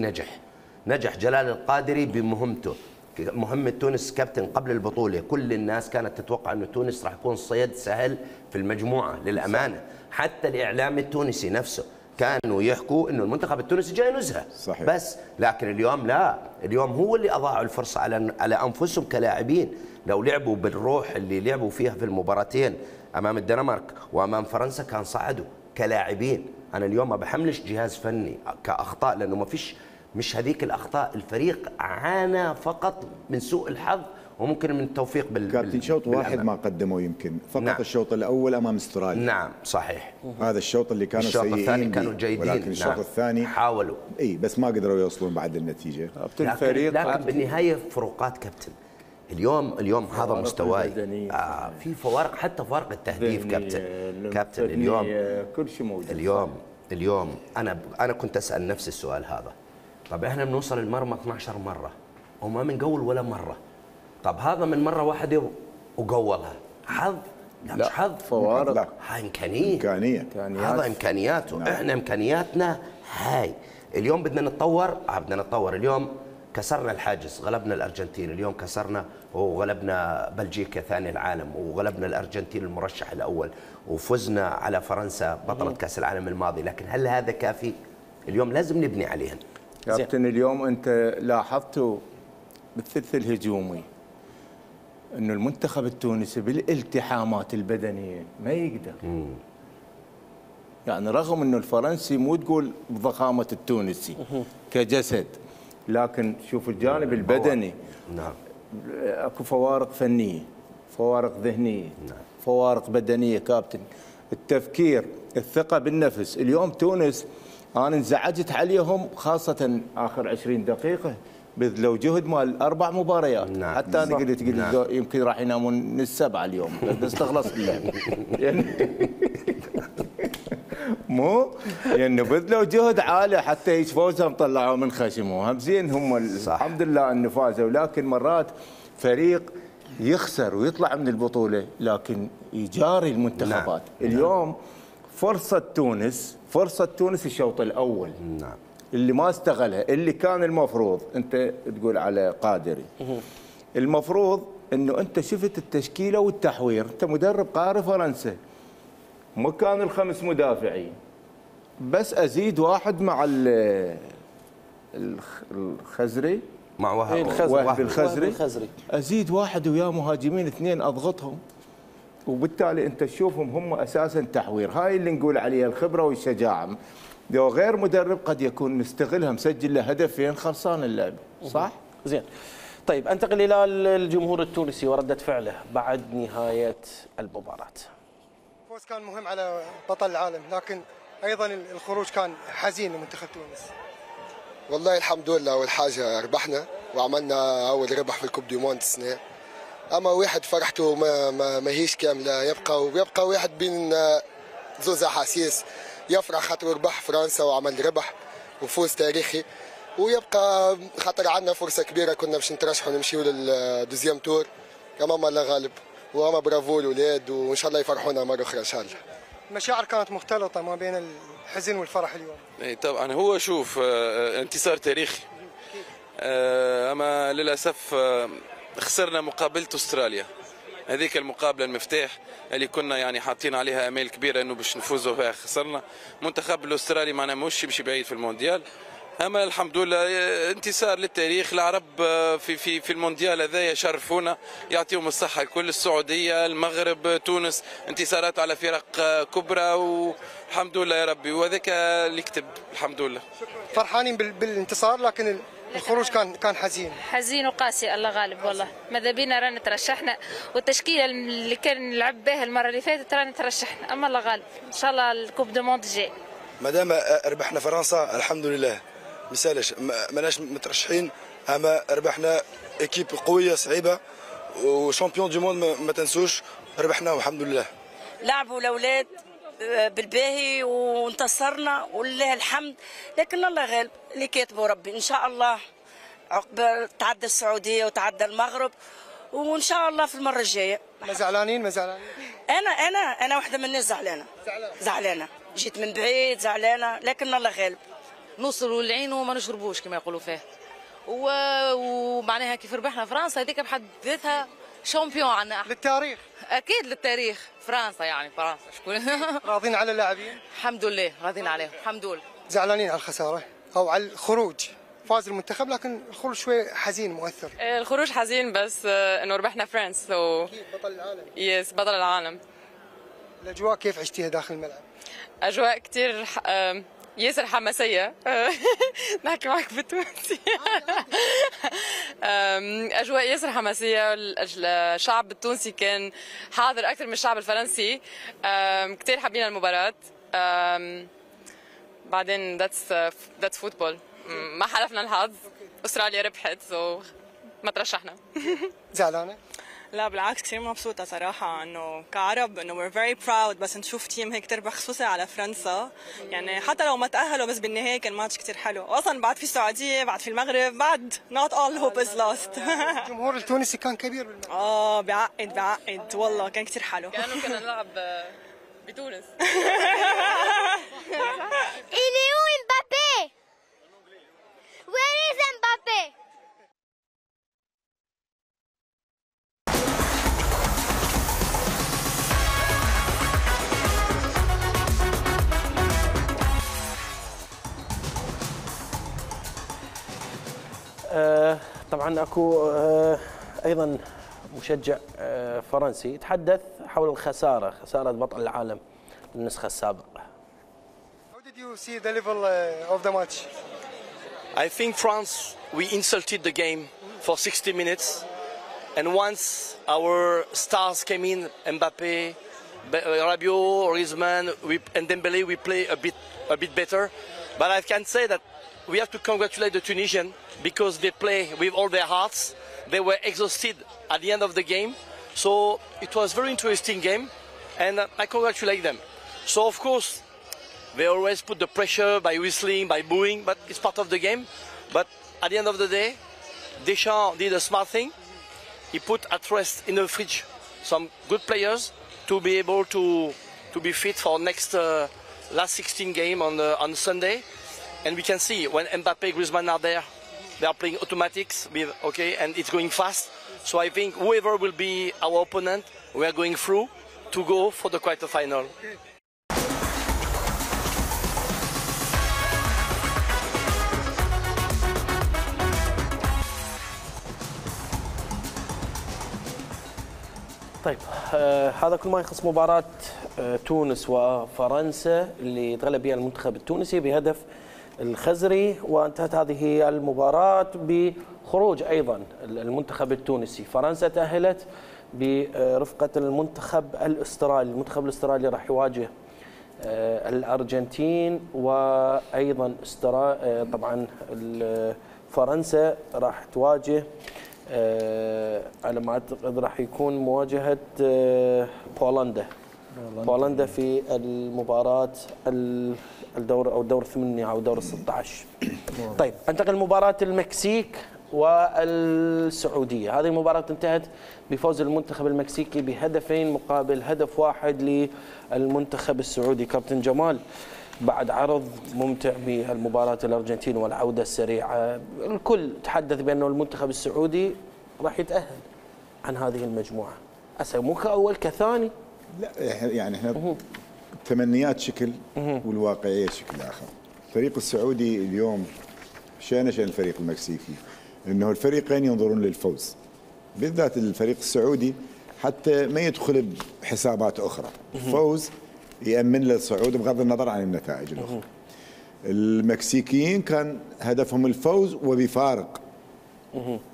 نجح جلال القادري بمهمته، مهمة تونس كابتن قبل البطولة. كل الناس كانت تتوقع أنه تونس راح يكون صيد سهل في المجموعة للأمانة. حتى الإعلام التونسي نفسه كانوا يحكوا أنه المنتخب التونسي جاي نزهة صحيح. بس لكن اليوم لا، اليوم هو اللي أضاعوا الفرصة على أنفسهم كلاعبين. لو لعبوا بالروح اللي لعبوا فيها في المباراتين أمام الدنمارك وأمام فرنسا كان صعدوا كلاعبين. أنا اليوم ما بحملش جهاز فني كأخطاء، لأنه ما فيش، مش هذيك الأخطاء. الفريق عانى فقط من سوء الحظ وممكن من التوفيق كابتن شوط واحد ما قدموا يمكن فقط. نعم. الشوط الأول أمام استراليا. نعم صحيح. هذا الشوط اللي كانوا سيئين. الشوط الثاني كانوا جيدين. ولكن الشوط نعم. الثاني حاولوا بس ما قدروا يوصلون بعد النتيجة. لكن بالنهاية فروقات كابتن. اليوم هذا مستواي. في فوارق، حتى فوارق التهديف كابتن اليوم كل شيء موجود. اليوم انا كنت اسال نفس السؤال هذا. طب احنا بنوصل المرمى 12 مره وما بنقول ولا مره. طب هذا من مره واحده وقولها، حظ؟ لا مش حظ، فوارق، هاي امكانيه. هذا امكانياته. نعم. احنا امكانياتنا هاي. اليوم بدنا نتطور. اليوم كسرنا الحاجز، غلبنا الارجنتين، اليوم كسرنا وغلبنا بلجيكا ثاني العالم، وغلبنا الارجنتين المرشح الاول، وفزنا على فرنسا بطلة كاس العالم الماضي. لكن هل هذا كافي؟ اليوم لازم نبني عليهن. كابتن اليوم انت لاحظتوا بالثلث الهجومي انه المنتخب التونسي بالالتحامات البدنيه ما يقدر. يعني رغم انه الفرنسي مو تقول بضخامه التونسي كجسد، لكن شوف الجانب البدني. نعم. اكو فوارق فنيه، فوارق ذهنيه، نعم. فوارق بدنيه كابتن. التفكير، الثقه بالنفس. اليوم تونس انا انزعجت عليهم خاصه اخر 20 دقيقه، بذلوا جهد مال 4 مباريات. نعم. حتى انا قلت نعم. يمكن راح ينامون من السبعه اليوم بس تخلص اللعب. يعني مو يعني بذلوا جهد عالي حتى يفوزهم، طلعوا من خشمهم. زين هم الحمد لله انه فازوا، لكن مرات فريق يخسر ويطلع من البطوله لكن يجاري المنتخبات. نعم. اليوم فرصه تونس الشوط الاول. نعم. اللي ما استغلها، اللي كان المفروض انت تقول على قادري، المفروض انه انت شفت التشكيله والتحوير. انت مدرب قاري فرنسا، مكان ال5 مدافعين، بس ازيد واحد مع الخزري، مع وهب الخزري، ازيد واحد وياه مهاجمين 2 اضغطهم، وبالتالي انت تشوفهم هم اساسا تحوير. هاي اللي نقول عليها الخبره والشجاعه. لو غير مدرب قد يكون مستغلها، مسجل له هدفين، خلصان اللعبه. صح؟ زين. طيب انتقل الى الجمهور التونسي ورده فعله بعد نهايه المباراه. الفوز كان مهم على بطل العالم، لكن ايضا الخروج كان حزين لمنتخب تونس. والله الحمد لله، اول حاجه ربحنا وعملنا اول ربح في الكوب دي موند السنه. اما واحد فرحته ما هيش كامله، يبقى واحد بين زوز احاسيس. يفرح خاطر ربح فرنسا وعمل ربح وفوز تاريخي، ويبقى خاطر عندنا فرصه كبيره كنا باش نترشحوا نمشيو للدوزيام تور. اما الله غالب، واما برافو الاولاد، وان شاء الله يفرحونا مره اخرى ان شاء الله. المشاعر كانت مختلطه ما بين الحزن والفرح اليوم. اي طبعا. هو شوف انتصار تاريخي اما للاسف خسرنا مقابله استراليا. هذيك المقابله المفتاح اللي كنا يعني حاطين عليها امال كبيره انه باش نفوزوا فيها، خسرنا. منتخب الاسترالي معنا مش يمشي بعيد في المونديال، اما الحمد لله انتصار للتاريخ. العرب في المونديال هذا يشرفونا، يعطيهم الصحه الكل. السعوديه، المغرب، تونس، انتصارات على فرق كبرى، والحمد لله يا ربي، وهذاك اللي كتب. الحمد لله فرحانين بالانتصار، لكن الخروج كان حزين وقاسي. الله غالب والله. ماذا بينا رانا ترشحنا، والتشكيله اللي كان نلعب بها المره اللي فاتت رانا ترشحنا، اما الله غالب ان شاء الله الكوب دو موند الجاي. ما دام ربحنا فرنسا الحمد لله، مسالش ماناش مترشحين، اما ربحنا ايكيب قويه صعيبه وشامبيون دو موند، ما تنسوش ربحنا والحمد لله. لعبوا الاولاد بالباهي وانتصرنا ولله الحمد، لكن الله غالب اللي كاتبه ربي. ان شاء الله عقب تعدى السعوديه وتعدى المغرب، وان شاء الله في المره الجايه. ما زعلانين؟ انا واحده من الناس زعلانه جيت من بعيد زعلانه، لكن الله غالب. نوصلوا للعين وما نشربوش كما يقولوا فيه، ومعناها كيف ربحنا فرنسا هذيك بحد ذاتها شامبيون عنا للتاريخ. اكيد للتاريخ. فرنسا يعني فرنسا شكون. راضين على اللاعبين؟ الحمد لله راضين عليهم الحمد لله. زعلانين على الخساره او على الخروج؟ فاز المنتخب لكن الخروج شوي حزين مؤثر. الخروج حزين بس انه ربحنا فرنسا بطل العالم. يس بطل العالم. الاجواء كيف عشتيها داخل الملعب؟ اجواء كثير ياسر حماسيه. نحكي معك بالتونسي. اجواء ياسر حماسيه. الشعب التونسي كان حاضر اكثر من الشعب الفرنسي. كثير حابين المباراه. بعدين ذاتس فوتبول. ما حلفنا الحظ، استراليا ربحت ما ترشحنا. زعلانه؟ لا بالعكس كثير مبسوطة صراحة، انه كعرب انه we're very proud، بس نشوف تيم هيك تربح خصوصا على فرنسا. يعني حتى لو ما تأهلوا بس بالنهاية كان ماتش كثير حلو، واصلا بعد في السعودية بعد في المغرب بعد not all hope is lost. الجمهور التونسي كان كبير بالملعب. بعقد والله كان كثير حلو. كأنه كنا نلعب بتونس. Il est où Mbappé? Where is Mbappé? طبعا اكو ايضا مشجع فرنسي يتحدث حول خساره بطل العالم النسخه السابقه. How did you see the level of the match? I think France, we insulted the game for 60 minutes, and once our stars came in, Mbappé, Rabiot, Griezmann, and Dembélé, we play a bit better. But I can say that we have to congratulate the Tunisians because they play with all their hearts. They were exhausted at the end of the game, so it was a very interesting game, and I congratulate them. So of course, they always put the pressure by whistling, by booing, but it's part of the game. But at the end of the day, Deschamps did a smart thing. He put at rest in the fridge some good players to be able to be fit for next last 16 game on Sunday. And we can see when Mbappé, Griezmann are there, they are playing automatics, and it's going fast. So I think whoever will be our opponent, we are going through to go for the quarterfinal. Okay. طيب هذا كل ما يخص مباراة تونس وفرنسا اللي تغلب بها المنتخب التونسي بهدف الخزري، وانتهت هذه المباراة بخروج أيضا المنتخب التونسي. فرنسا تأهلت برفقة المنتخب الأسترالي. المنتخب الأسترالي راح يواجه الأرجنتين، وأيضا طبعا فرنسا راح تواجه على ما أعتقد راح يكون مواجهة بولندا في المباراة الدور أو دور 8 أو دور 16. طيب انتقل لمباراة المكسيك والسعودية. هذه المباراة انتهت بفوز المنتخب المكسيكي بهدفين مقابل هدف واحد للمنتخب السعودي. كابتن جمال، بعد عرض ممتع بهالمباراة الأرجنتين والعودة السريعة، الكل تحدث بأنه المنتخب السعودي راح يتأهل عن هذه المجموعة، هسه مو كأول كثاني. لا يعني احنا تمنيات شكل والواقعية شكل آخر. الفريق السعودي اليوم شان الفريق المكسيكي، انه الفريقين ينظرون للفوز، بالذات الفريق السعودي حتى ما يدخل بحسابات أخرى، الفوز يأمن له الصعود بغض النظر عن النتائج الأخرى. المكسيكيين كان هدفهم الفوز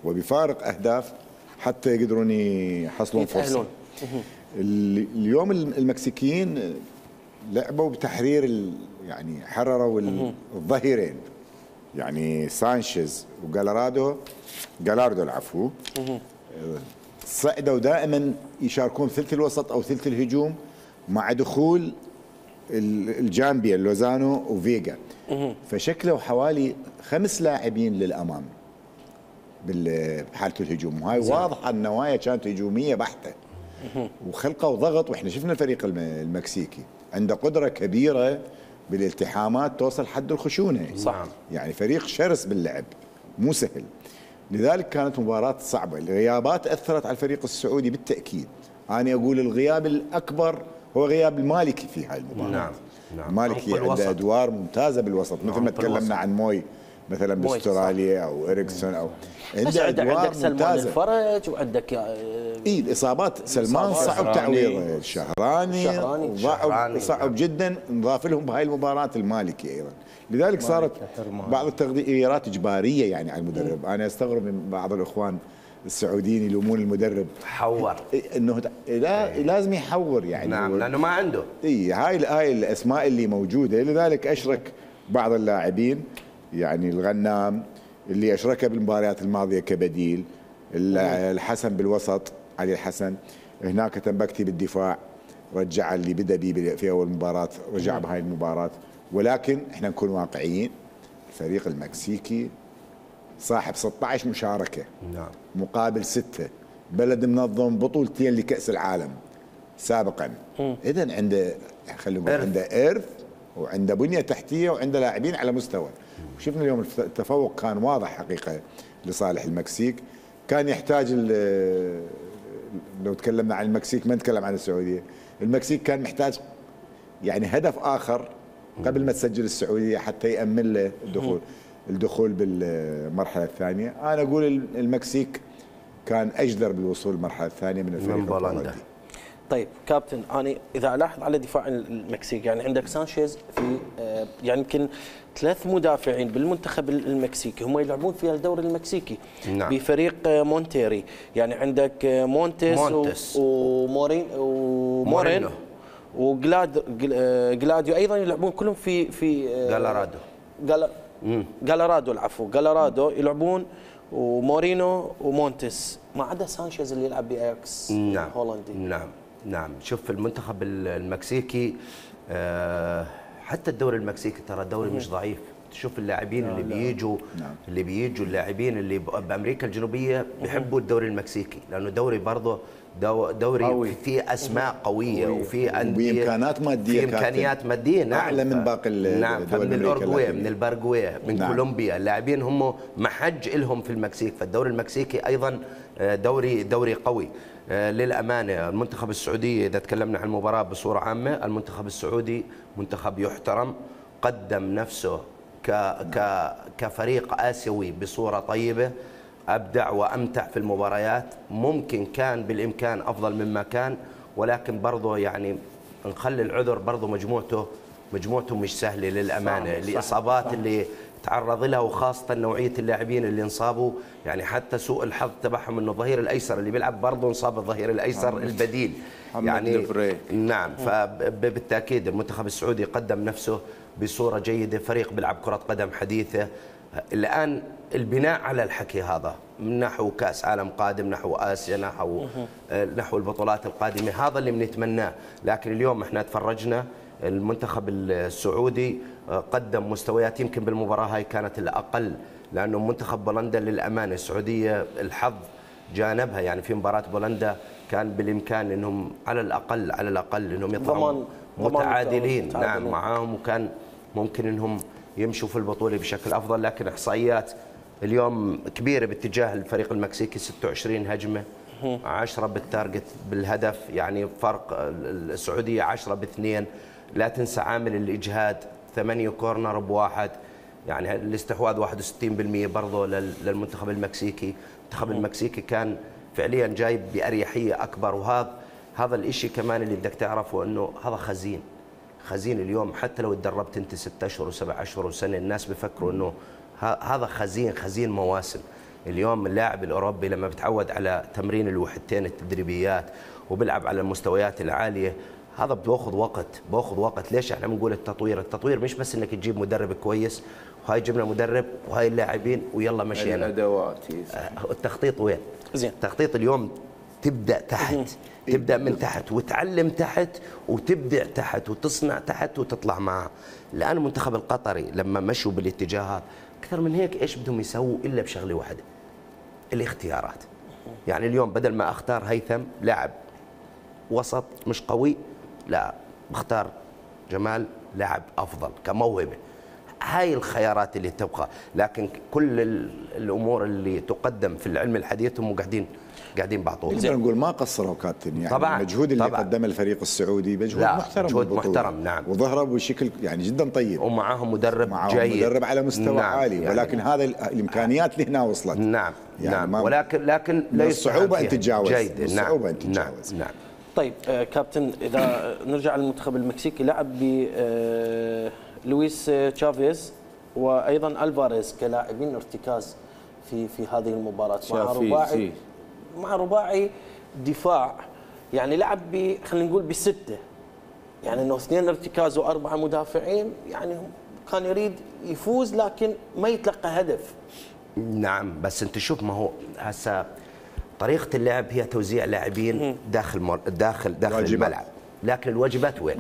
وبفارق أهداف حتى يقدرون يحصلون فرصة. اليوم المكسيكيين لعبوا بتحرير، يعني حرروا الظهيرين، يعني سانشيز وجالاردو العفو، صعدوا دائما يشاركون ثلث الوسط او ثلث الهجوم مع دخول الجامبيا لوزانو وفيجا، فشكلوا حوالي 5 لاعبين للامام بحاله الهجوم، وهاي واضحه النوايا كانت هجوميه بحته، وخلقوا ضغط. واحنا شفنا الفريق المكسيكي عنده قدره كبيره بالالتحامات توصل حد الخشونه، صح، يعني فريق شرس باللعب مو سهل، لذلك كانت مباراة صعبة. الغيابات أثرت على الفريق السعودي بالتأكيد. أنا أقول الغياب الأكبر هو غياب المالكي في هاي المباراة. نعم. المالكي عنده أدوار ممتازة بالوسط، مثل ما تكلمنا عن موي مثلا باستراليا أو إريكسون، أو عنده أدوار ممتازة. الفرج وعندك الإصابات سلمان صعب تعويضه، الشهراني صعب جدا، نضاف لهم بهاي المباراة المالكي أيضا، لذلك صارت بعض التغييرات إجبارية يعني على المدرب. أنا أستغرب من بعض الإخوان السعوديين يلومون المدرب حور، انه لازم يحور يعني. نعم، لانه ما عنده. هاي الاسماء اللي موجوده، لذلك اشرك بعض اللاعبين، يعني الغنام اللي اشركه بالمباريات الماضيه كبديل، الحسن بالوسط علي الحسن، هناك تنبكتي بالدفاع رجع اللي بدا بيه في اول مباراه، رجع بهاي المباراه. ولكن احنا نكون واقعيين، الفريق المكسيكي صاحب 16 مشاركة مقابل 6، بلد منظم بطولتين لكأس العالم سابقا، إذن عنده خلينا نقول عنده إرث وعنده بنية تحتية وعنده لاعبين على مستوى. وشفنا اليوم التفوق كان واضح حقيقة لصالح المكسيك. كان يحتاج، لو تكلمنا عن المكسيك ما نتكلم عن السعودية، المكسيك كان محتاج يعني هدف آخر قبل ما تسجل السعودية حتى يأمن له الدخول بالمرحلة الثانية. أنا أقول المكسيك كان أجدر بالوصول للمرحلة الثانية من الفريق البولندي. طيب كابتن، أنا إذا ألاحظ على دفاع المكسيك، يعني عندك سانشيز في يعني يمكن 3 مدافعين بالمنتخب المكسيكي هم يلعبون في الدوري المكسيكي. نعم. بفريق مونتيري، يعني عندك مونتيس ومورين وجلاديو ايضا يلعبون كلهم في جالارادو العفو، جالارادو يلعبون، ومورينو ومونتيس، ما عدا سانشيز اللي يلعب باياكس هولندي. نعم. شوف المنتخب المكسيكي، حتى الدوري المكسيكي ترى دوري مش ضعيف. تشوف اللاعبين اللي بيجوا اللاعبين اللي بامريكا الجنوبيه بيحبوا الدوري المكسيكي، لانه دوري برضه دوري فيه اسماء قويه وفي انديه بامكانات ماديه، امكانيات ماديه. نعم، اعلى من باقي الدول. من الاورجواي، من البرغواي، من كولومبيا، اللاعبين هم محج لهم في المكسيك، فالدوري المكسيكي ايضا دوري قوي. للامانه المنتخب السعودي، اذا تكلمنا عن المباراه بصوره عامه، المنتخب السعودي منتخب يحترم، قدم نفسه كفريق آسيوي بصورة طيبة، أبدع وأمتع في المباريات. ممكن كان بالإمكان أفضل مما كان، ولكن برضه يعني نخلي العذر، برضه مجموعته مش سهلة للأمانة. الإصابات اللي تعرض لها، وخاصة نوعية اللاعبين اللي انصابوا، يعني حتى سوء الحظ تبعهم انه الظهير الايسر اللي بيلعب برضه انصاب الظهير الايسر البديل يعني. نعم، فبالتاكيد المنتخب السعودي قدم نفسه بصورة جيدة، فريق بيلعب كرة قدم حديثة. الآن البناء على الحكي هذا من نحو كأس عالم قادم، نحو آسيا، نحو البطولات القادمة، هذا اللي بنتمناه. لكن اليوم احنا تفرجنا المنتخب السعودي قدم مستويات يمكن بالمباراة هاي كانت الأقل، لأنه منتخب بولندا للأمانة السعودية الحظ جانبها، يعني في مباراة بولندا كان بالإمكان أنهم على الأقل أنهم يطلعوا متعادلين. نعم معاهم، وكان ممكن انهم يمشوا في البطوله بشكل افضل، لكن احصائيات اليوم كبيره باتجاه الفريق المكسيكي، 26 هجمه 10 بالتارجت بالهدف، يعني فرق السعوديه 10 ب2. لا تنسى عامل الاجهاد، 8 كورنر بواحد، يعني الاستحواذ 61% برضه للمنتخب المكسيكي. المنتخب المكسيكي كان فعليا جايب باريحيه اكبر، وهذا الشيء كمان اللي بدك تعرفه انه هذا خزين اليوم. حتى لو تدربت انت 6 اشهر و7 اشهر وسنه، الناس بفكروا انه هذا خزين مواسم. اليوم اللاعب الاوروبي لما بتعود على تمرين الوحدتين التدريبيات وبيلعب على المستويات العاليه، هذا باخذ وقت. ليش احنا بنقول التطوير مش بس انك تجيب مدرب كويس، وهاي جبنا مدرب وهاي اللاعبين ويلا مشينا. الادوات التخطيط وين؟ زين. التخطيط اليوم تبدا تحت، تبدا من تحت وتعلم تحت وتبدع تحت وتصنع تحت وتطلع معه. الان المنتخب القطري لما مشوا بالاتجاه هذا اكثر من هيك ايش بدهم يسووا الا بشغله واحده، الاختيارات. يعني اليوم بدل ما اختار هيثم لاعب وسط مش قوي، لا بختار جمال لاعب افضل كموهبه. هاي الخيارات اللي تبقى، لكن كل الامور اللي تقدم في العلم الحديث هم قاعدين بعطوها. نقدر نقول ما قصروا كابتن، يعني طبعاً المجهود اللي قدمه الفريق السعودي مجهود محترم، مجهود محترم نعم، وظهروا بشكل يعني جدا طيب، ومعاهم مدرب جيد، مدرب على مستوى نعم عالي، ولكن يعني هذا الامكانيات اللي هنا وصلت نعم يعني نعم، ولكن ليس الصعوبه ان تتجاوز، الصعوبه ان تتجاوز. نعم. طيب كابتن، اذا نرجع للمنتخب المكسيكي، لعب ب لويس تشافيز وايضا الفاريز كلاعبين ارتكاز في هذه المباراه مع رباعي دفاع، يعني لعب خلينا نقول بسته، يعني انه 2 ارتكاز و4 مدافعين، يعني كان يريد يفوز لكن ما يتلقى هدف. نعم، بس انت شوف، ما هو هسه طريقه اللعب هي توزيع لاعبين داخل الملعب، لكن الواجبات وين؟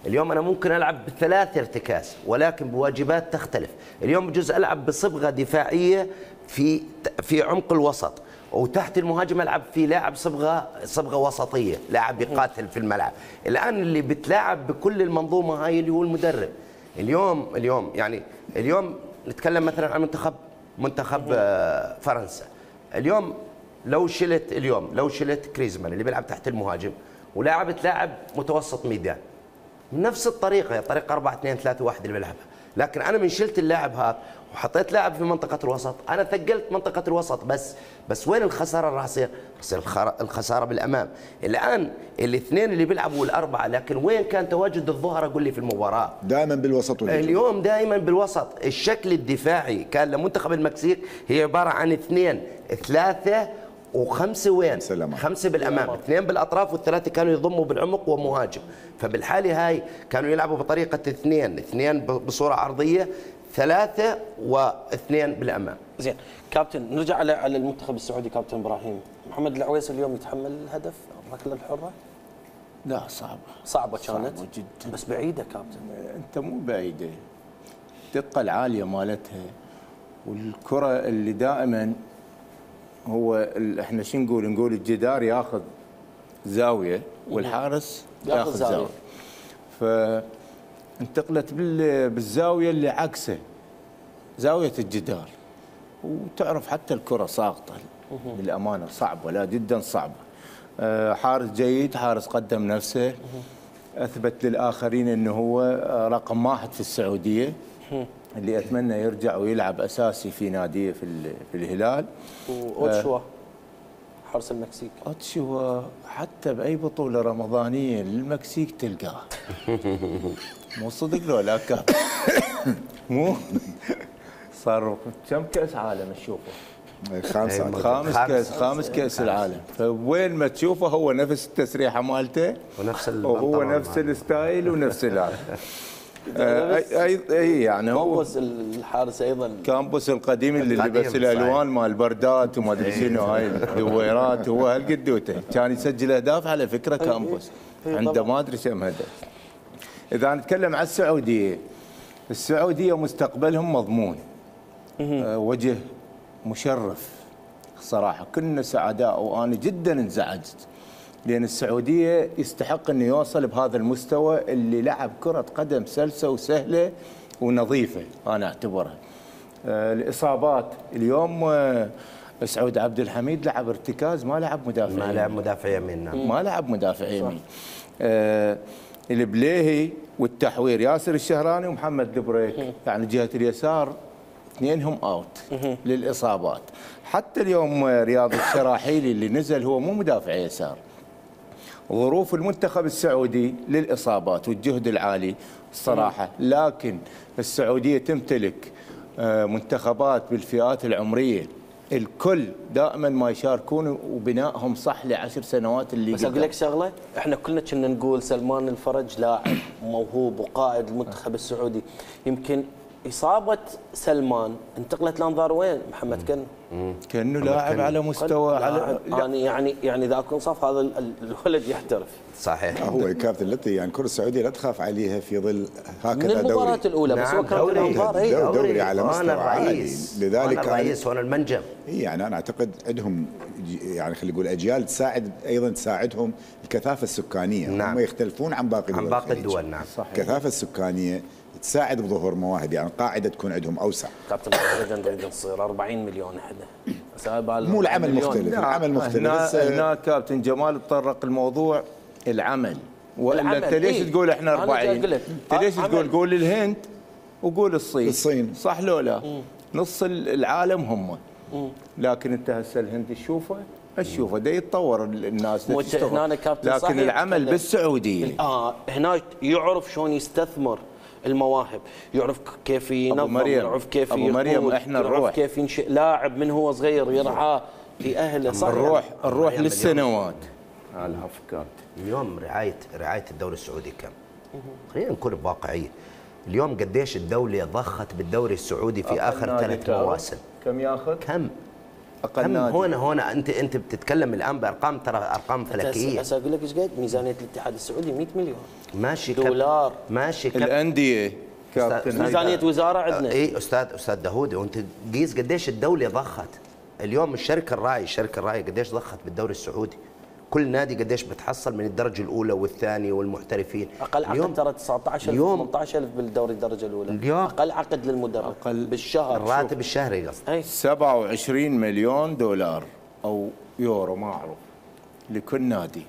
اليوم انا ممكن العب ب3 ارتكاز ولكن بواجبات تختلف. اليوم بجوز العب بصبغه دفاعيه في عمق الوسط، وتحت المهاجم العب في لاعب صبغه وسطيه، لاعب يقاتل في الملعب. الان اللي بتلاعب بكل المنظومه هاي اللي هو المدرب. اليوم نتكلم مثلا عن منتخب فرنسا. اليوم لو شلت كريزمان اللي بيلعب تحت المهاجم ولاعبت لاعب متوسط ميدان، نفس الطريقه، طريقه 4-2-3-1 اللي بيلعبها، لكن انا من شلت اللاعب هذا وحطيت لاعب في منطقه الوسط، انا ثقلت منطقه الوسط بس وين الخساره راح تصير؟ الخساره بالامام. الان الاثنين اللي بيلعبوا الاربعه، لكن وين كان تواجد الظهر؟ اقول لي في المباراه دائما بالوسط اليوم دائما بالوسط. الشكل الدفاعي كان لمنتخب المكسيك هي عباره عن 2 3 و5 وين؟ 5 بالامام، 2 بالاطراف والثلاثه كانوا يضموا بالعمق ومهاجم. فبالحاله هاي كانوا يلعبوا بطريقه 2 بصوره عرضيه، 3 و2 بالامام. زين كابتن، نرجع على المنتخب السعودي. كابتن ابراهيم، محمد العويس اليوم يتحمل الهدف الركله الحره؟ لا صعبه كانت جدا، بس بعيده كابتن. انت مو بعيده، الدقه العاليه مالتها والكره اللي دائما هو احنا شو نقول الجدار ياخذ زاويه والحارس ياخذ زاويه، فانتقلت بالزاويه اللي عكسه، زاويه الجدار، وتعرف حتى الكره ساقطه للامانه، صعبه، لا جدا صعبه. حارس جيد، حارس قدم نفسه، اثبت للاخرين انه هو رقم 1 في السعوديه، اللي اتمنى يرجع ويلعب اساسي في ناديه في الهلال. واوتشوا حارس المكسيك، اوتشوا حتى باي بطوله رمضانيه للمكسيك تلقاه. مو صدق لو لا كاب مو صار كم كاس عالم تشوفه؟ خامس كاس العالم، فوين ما تشوفه هو نفس التسريحه مالته وهو نفس الستايل ونفس اللاعب. اي يعني هو كامبوس الحارس ايضا، كامبوس القديم اللي لبس الالوان مال البردات وما ادري شنو، هاي الدويرات، هو هالقدوته كان يسجل اهداف على فكره. كامبوس عنده ما ادري كم هدف. اذا نتكلم عن السعوديه مستقبلهم مضمون، وجه مشرف صراحه، كنا سعداء وانا جدا انزعجت، لأن السعودية يستحق أنه يوصل بهذا المستوى اللي لعب كرة قدم سلسة وسهلة ونظيفه انا اعتبرها. الاصابات اليوم سعود عبد الحميد لعب ارتكاز، ما لعب مدافع، ما لعب مدافع يمين، ما لعب مدافع يمين. البليهي والتحوير ياسر الشهراني ومحمد البريك، يعني جهه اليسار اثنينهم اوت للاصابات. حتى اليوم رياض الشراحيلي اللي نزل هو مو مدافع يسار. ظروف المنتخب السعودي للاصابات والجهد العالي الصراحه، لكن السعوديه تمتلك منتخبات بالفئات العمريه الكل دائما ما يشاركون وبنائهم صح ل10 سنوات اللي بس اقول لك شغله، احنا كلنا كنا نقول سلمان الفرج لاعب موهوب وقائد المنتخب السعودي، يمكن اصابه سلمان انتقلت لانظار وين؟ محمد كانه لاعب على مستوى يعني اذا اكون صف هذا الولد يحترف. صحيح. هو كابتن التي يعني الكره السعوديه لا تخاف عليها في ظل هكذا دوري من المباراه الاولى. بس هو كان دوري على مستوى عالي، لذلك انا الرئيس وانا المنجم. يعني انا اعتقد عندهم يعني خلينا نقول اجيال تساعد ايضا تساعدهم الكثافه السكانيه. هم يختلفون عن باقي الدول. نعم صحيح. الكثافه السكانيه تساعد بظهور مواهب، يعني قاعده تكون عندهم اوسع. كابتن نريد نصير 40 مليون احنا. مو العمل مختلف، العمل مختلف. هنا كابتن جمال تطرق الموضوع العمل، والا انت ليش تقول احنا 40؟ انت ليش تقول الهند وقول الصين صح لو لا؟ نص العالم هم. لكن انت هسه الهند تشوفه دا يتطور الناس هنا لكن العمل بالسعوديه هنا يعرف شلون يستثمر المواهب، يعرف كيف ينظم، يعرف كيف مريم احنا يعرف كيف ينشئ لاعب من هو صغير يرعاه لاهله. صح الروح للسنوات. العفو كابتن. اليوم رعايه الدوري السعودي كم؟ خلينا نكون بواقعيه. اليوم قديش الدوله ضخت بالدوري السعودي في اخر 3 مواسم؟ كم ياخذ؟ كم هنا انت بتتكلم الان بارقام، ترى ارقام فلكيه. بس اقول لك ايش قد ميزانيه الاتحاد السعودي 100 مليون ماشي دولار. ماشي الانديه ميزانيه وزاره عندنا. اي استاذ داوود، وانت قيس قديش الدوله ضخت. اليوم الشركه الراعي قديش ضخت بالدوري السعودي. كل نادي قديش بتحصل من الدرجه الاولى والثانيه والمحترفين. اقل عقد ترى 19,000 18,000 بالدوري الدرجه الاولى. اليوم اقل عقد للمدرب بالشهر، الراتب الشهري قصدي 27 مليون دولار او يورو ما اعرف لكل نادي.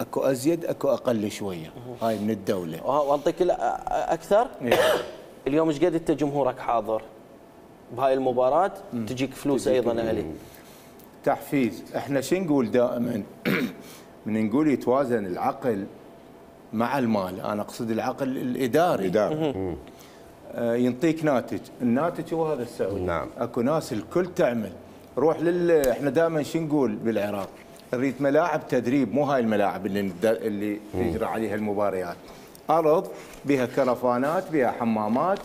اكو ازيد اكو اقل شويه، هاي من الدوله. واعطيك اكثر. اليوم ايش قد انت جمهورك حاضر بهاي المباراه؟ تجيك فلوس ايضا عليه تحفيز. احنا شو نقول دائما؟ من نقول يتوازن العقل مع المال، انا اقصد العقل الاداري. ينطيك ناتج، الناتج هو هذا السعودي. نعم. اكو ناس الكل تعمل. روح احنا دائما شو نقول بالعراق؟ نريد ملاعب تدريب، مو هاي الملاعب اللي تجرى عليها المباريات. ارض بها كرفانات، بها حمامات،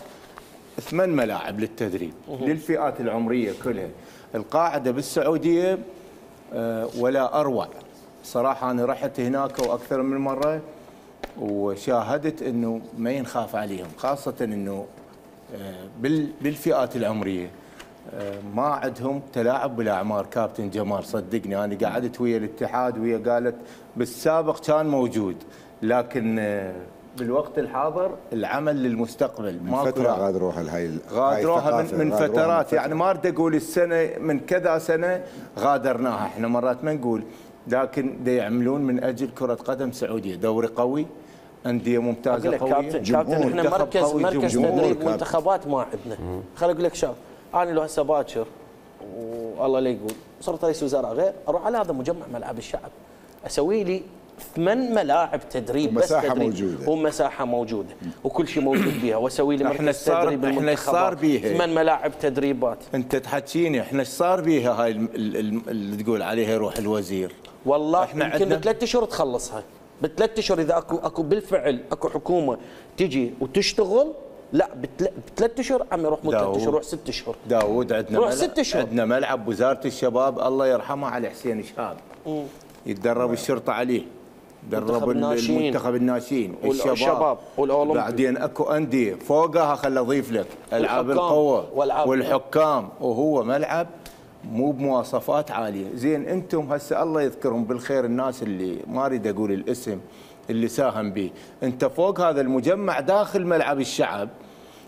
8 ملاعب للتدريب للفئات العمريه كلها. القاعده بالسعوديه ولا اروع صراحه. انا رحت هناك واكثر من مره وشاهدت انه ما ينخاف عليهم، خاصه انه بالفئات العمريه ما عندهم تلاعب بالاعمار. كابتن جمال صدقني، انا قعدت ويا الاتحاد ويا قالت بالسابق كان موجود، لكن بالوقت الحاضر العمل للمستقبل. من فتره غادروها غادروها من فترات، يعني ما اريد اقول السنه، من كذا سنه غادرناها. احنا مرات ما نقول، لكن دا يعملون من اجل كره قدم سعوديه، دوري قوي، انديه ممتازه قويه. كابتن احنا مركز تدريب منتخبات ما عندنا. خليني اقول لك شغله، انا لو هسه باكر والله لا يقول صرت رئيس وزراء غير، اروح على هذا مجمع ملعب الشعب اسوي لي 8 ملاعب تدريب، بس تدريب موجوده ومساحه موجوده وكل شيء موجود بها، واسوي لي مركز تدريب. احنا ايش صار بيها؟ 8 ملاعب تدريبات. انت تحكيني احنا ايش صار بيها هاي اللي تقول عليها روح الوزير؟ والله احنا يمكن ب3 اشهر تخلصها، ب3 اشهر اذا اكو بالفعل اكو حكومه تجي وتشتغل. لا ب3 اشهر عم يروح مو 3 اشهر، روح 6 اشهر. داوود عندنا 6 اشهر. عندنا ملعب وزاره الشباب الله يرحمه علي حسين شهاب يتدرب الشرطه عليه، درب المنتخب الناشئين، الشباب والاولمبي. بعدين اكو انديه فوقها، خل اضيف لك العاب القوه والحكام، وهو ملعب مو بمواصفات عاليه. زين انتم هسه الله يذكرهم بالخير الناس اللي ما اريد اقول الاسم اللي ساهم به، انت فوق هذا المجمع داخل ملعب الشعب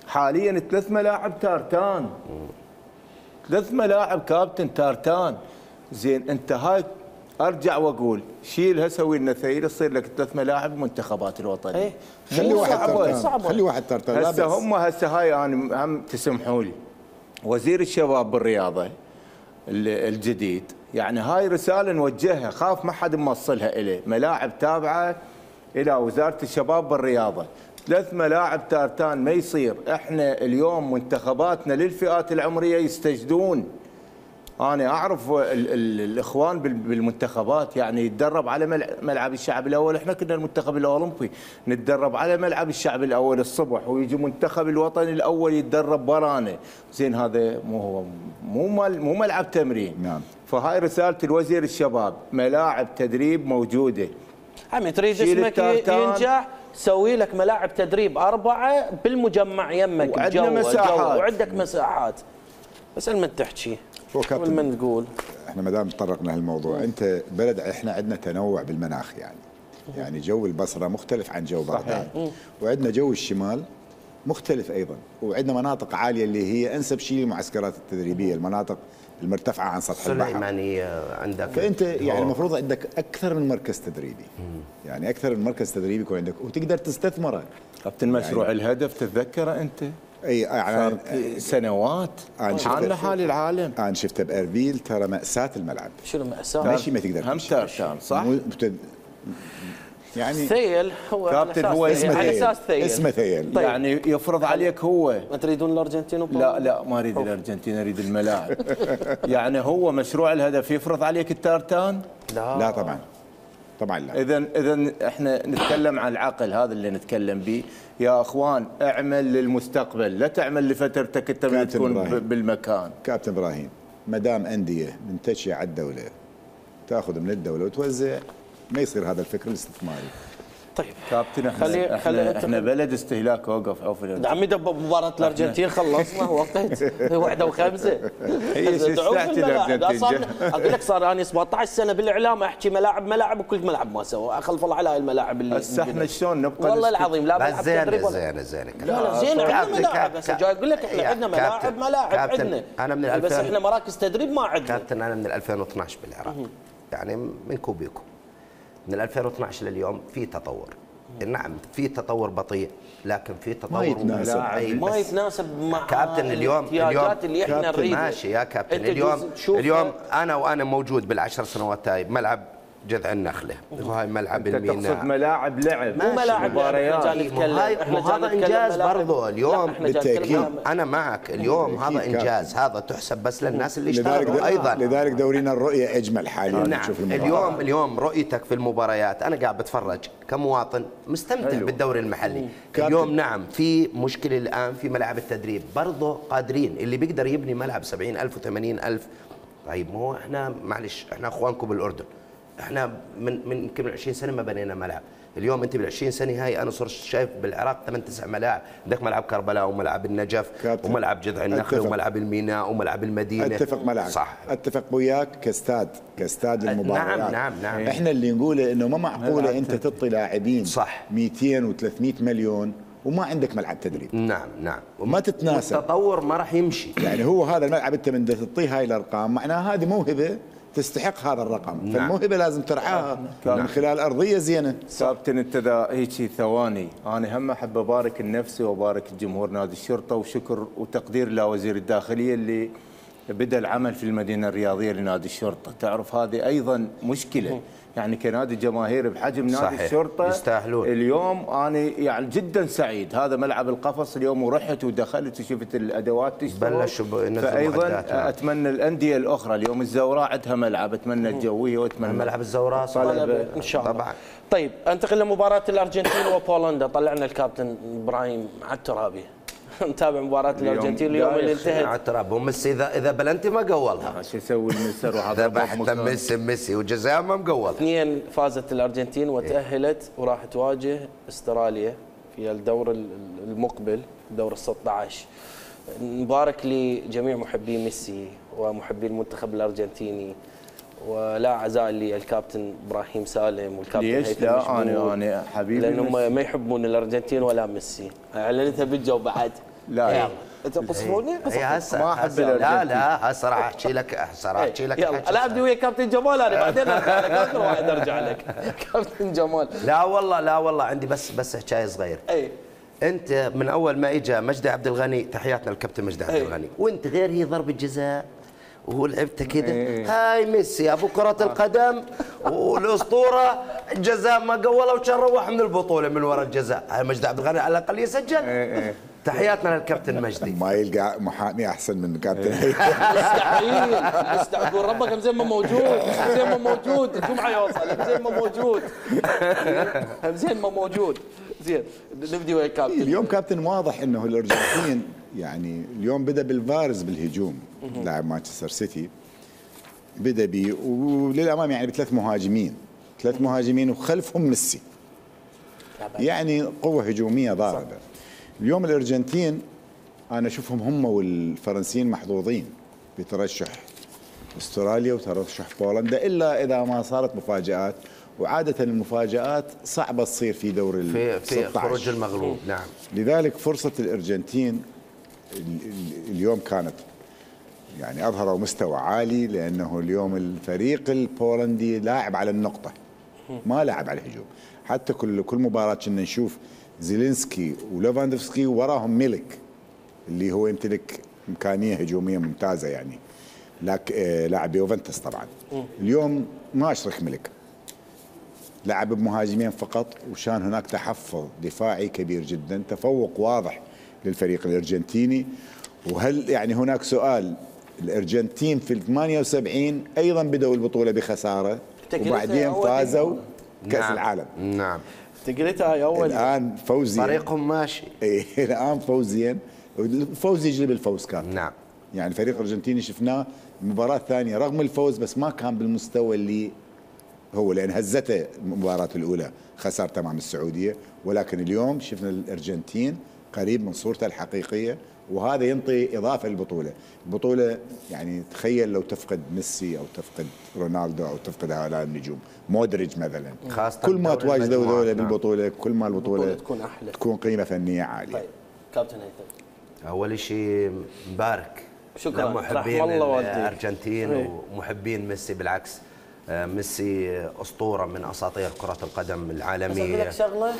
حاليا 3 ملاعب تارتان، 3 ملاعب كابتن تارتان. زين انت هاي ارجع واقول شيلها سوي لنا ثيل تصير لك 3 ملاعب منتخبات الوطنيه. ايه خلي واحد تارتان، خلي واحد تارتان. هسه هم هسه هاي انا هم تسمحوا لي وزير الشباب بالرياضه الجديد، يعني هاي رساله نوجهها، خاف ما حد موصلها اليه، ملاعب تابعه الى وزاره الشباب بالرياضه، 3 ملاعب تارتان ما يصير. احنا اليوم منتخباتنا للفئات العمريه يستجدون. انا اعرف الاخوان بالمنتخبات يعني يتدرب على ملعب الشعب الاول، احنا كنا المنتخب الاولمبي نتدرب على ملعب الشعب الاول الصبح، ويجي منتخب الوطني الاول يتدرب برانا. زين هذا مو ملعب تمرين. نعم. فهاي رساله الوزير الشباب، ملاعب تدريب موجوده. عمي تريد اسمك ينجح سوي لك ملاعب تدريب 4 بالمجمع يمك، وعندنا مساحات وعندك مساحات. بس من تحكي من تقول احنا ما دام تطرقنا للموضوع، انت بلد احنا عندنا تنوع بالمناخ يعني جو البصره مختلف عن جو بغداد، وعندنا جو الشمال مختلف ايضا، وعندنا مناطق عاليه اللي هي انسب شيء للمعسكرات التدريبيه، المناطق المرتفعه عن سطح البحر. سليمانيه عندك، فانت يعني المفروض عندك اكثر من مركز تدريبي. يعني اكثر من مركز تدريبي يكون عندك وتقدر تستثمره. كابتن مشروع يعني الهدف تتذكره انت؟ اي يعني سنوات عنا حال العالم. انا شفته باربيل، ترى ماساه الملعب. شنو ماساه؟ ماشي ما تقدر هم تارتان صح؟ يعني ثيل هو كابتن هو على اساس ثيل، اسمه ثيل. طيب. يعني يفرض عليك هو. ما تريدون الارجنتين لا ما اريد الارجنتين، اريد الملاعب. يعني هو مشروع الهدف يفرض عليك التارتان؟ لا طبعا لا. اذا احنا نتكلم عن العقل، هذا اللي نتكلم به يا اخوان. اعمل للمستقبل، لا تعمل لفترتك انت من تكون بالمكان. كابتن ابراهيم، ما دام انديه منتشيه على الدوله تاخذ من الدوله وتوزع، ما يصير هذا الفكر الاستثماري. طيب كابتن احنا بلد استهلاك. وقف عوف عمي مباراه الارجنتين خلصنا وقتها 1:05 هي ساعه الارجنتين. اقول لك صار اني 17 سنه بالاعلام احكي ملاعب وكل ملعب ما سوى، خلف الله على هاي الملاعب اللي هسه احنا شلون نبقى والله العظيم لا ملعب تدريب زينه لا زين عندنا ملاعب. بس جاي اقول لك احنا عندنا ملاعب عندنا. انا من بس احنا مراكز تدريب ما عندنا. كابتن انا من 2012 بالعراق، يعني منكم بيكم. من 2012 لليوم في تطور. نعم في تطور بطيء، لكن في تطور ما يتناسب مع كابتن اليوم اللي احنا نريدها. ماشي يا كابتن. اليوم انا موجود بال10 سنوات هاي بملعب جذع النخله، وهاي ملعب الميناء. تقصد ملاعب لعب مو ملاعب مباريات. هذا انجاز برضه اليوم بالتاكيد. انا معك اليوم هذا انجاز، هذا تحسب بس للناس اللي اشتغلوا ايضا. لذلك دورينا الرؤيه اجمل حاليا. نعم اليوم رؤيتك في المباريات، انا قاعد بتفرج كمواطن مستمتع بالدوري المحلي. اليوم نعم في مشكله الان في ملاعب التدريب، برضه قادرين اللي بيقدر يبني ملعب 70,000 و80,000. طيب مو احنا معلش احنا اخوانكم بالاردن، احنا من يمكن 20 سنه ما بنينا ملعب. اليوم انت بال20 سنه هاي انا صرت شايف بالعراق 8-9 ملاعب، عندك ملعب كربلاء وملعب النجف وملعب جذع النخله وملعب الميناء وملعب المدينه. اتفق معك صح، اتفق وياك كاستاد للمباريات. نعم احنا اللي نقوله انه ما معقوله انت تعطي لاعبين صح 200 و300 مليون وما عندك ملعب تدريب. نعم وما تتناسب. التطور ما راح يمشي. يعني هو هذا الملعب انت من تعطيه هاي الارقام معناها هذه موهبه تستحق هذا الرقم. فالموهبه لازم ترعاها من خلال ارضيه زينه. كابتن انت هيك ثواني، انا هم احب ابارك لنفسي وابارك الجمهور نادي الشرطه، وشكر وتقدير لوزير الداخليه اللي بدا العمل في المدينه الرياضيه لنادي الشرطه. تعرف هذه ايضا مشكله، يعني كنادي جماهيري بحجم نادي صحيح. الشرطه يستاهلون. اليوم انا يعني جدا سعيد، هذا ملعب القفص اليوم ورحت ودخلت وشفت الادوات تشتغل. بلشوا فايضا اتمنى الانديه الاخرى، اليوم الزوراء عندها ملعب، اتمنى الجويه واتمنى ملعب الزوراء ان شاء الله طبعا. طيب انتقل لمباراه الارجنتين وبولندا. طلعنا الكابتن ابراهيم على الترابي نتابع مباراة الارجنتين اليوم اللي انتهت. على التراب وميسي اذا بلنتي ما قولها. شو يسوي المسر ذبحت ميسي وجزاء ما مقول. 2 فازت الارجنتين وتأهلت وراح تواجه استراليا في الدور المقبل دور ال16. نبارك لجميع محبي ميسي ومحبي المنتخب الارجنتيني، ولا عزاء للكابتن ابراهيم سالم والكابتن ليش لا؟ انا حبيبي لانهم ما يحبون الارجنتين ولا ميسي. اعلنتها بالجو بعد. لا انت قصروني ما احب لا لا هسه راح احكي لك يلا لا ابدي ويا كابتن جمال انا بعدين ارجع لك اخر واحد ارجع لك كابتن جمال. لا والله عندي بس حكايه صغير. انت من اول ما اجى مجدي عبد الغني، تحياتنا للكابتن مجدي عبد الغني، وانت غير هي ضربه جزاء وهو لعبته كده. هاي ميسي ابو كره القدم والاسطوره، جزاء ما قوله وكان روح من البطوله من وراء الجزاء. هاي مجدي عبد الغني على الاقل يسجل. تحياتنا للكابتن مجدي. ما يلقى محامي احسن من كابتن. مستحيل اقول ربك زين ما موجود، زين ما موجود الجمعه يوصل، زين ما موجود، زين ما موجود. زين نبدي ويا كابتن. اليوم كابتن واضح انه الارجنتين يعني اليوم بدا بالفارز بالهجوم، لاعب مانشستر سيتي بدا بي وللامام يعني بثلاث مهاجمين وخلفهم ميسي، يعني قوه هجوميه ضاربه. اليوم الارجنتين انا اشوفهم هم والفرنسيين محظوظين بترشح استراليا وترشح بولندا، الا اذا ما صارت مفاجات، وعاده المفاجات صعبه تصير في دور ال 16 في خروج المغلوب. نعم. لذلك فرصه الارجنتين اليوم كانت يعني اظهروا مستوى عالي، لانه اليوم الفريق البولندي لاعب على النقطه، ما لاعب على الهجوم. حتى كل مباراه كنا نشوف زيلينسكي وليفاندوفسكي وراهم ميلك اللي هو يمتلك امكانيه هجوميه ممتازه، يعني لاعب يوفنتوس طبعا. اليوم ما اشرك ميلك، لعب بمهاجمين فقط، وشان هناك تحفظ دفاعي كبير جدا، تفوق واضح للفريق الارجنتيني. وهل يعني هناك سؤال، الارجنتين في 78 ايضا بدأوا البطوله بخساره وبعدين فازوا كاس العالم. نعم تقريتها اول. الان فوزيا طريقهم ماشي. الان فوزيا، الفوز يجلب الفوز كان. نعم. يعني الفريق الارجنتيني شفناه المباراه الثانيه رغم الفوز بس ما كان بالمستوى اللي هو، لان هزته المباراه الاولى خسر تمام السعوديه، ولكن اليوم شفنا الارجنتين قريب من صورته الحقيقيه، وهذا ينطي اضافه للبطوله. البطوله يعني تخيل لو تفقد ميسي او تفقد رونالدو او تفقد هؤلاء النجوم، مودريتش مثلا، كل ما تواجدوا ذولا بالبطوله كل ما البطوله تكون احلى، تكون قيمه فنيه عاليه. طيب كابتن هيثم. اول شيء مبارك شكرا لمحبين الارجنتين ومحبين ميسي. بالعكس ميسي اسطوره من اساطير كره القدم العالميه. بس اقول لك شغله،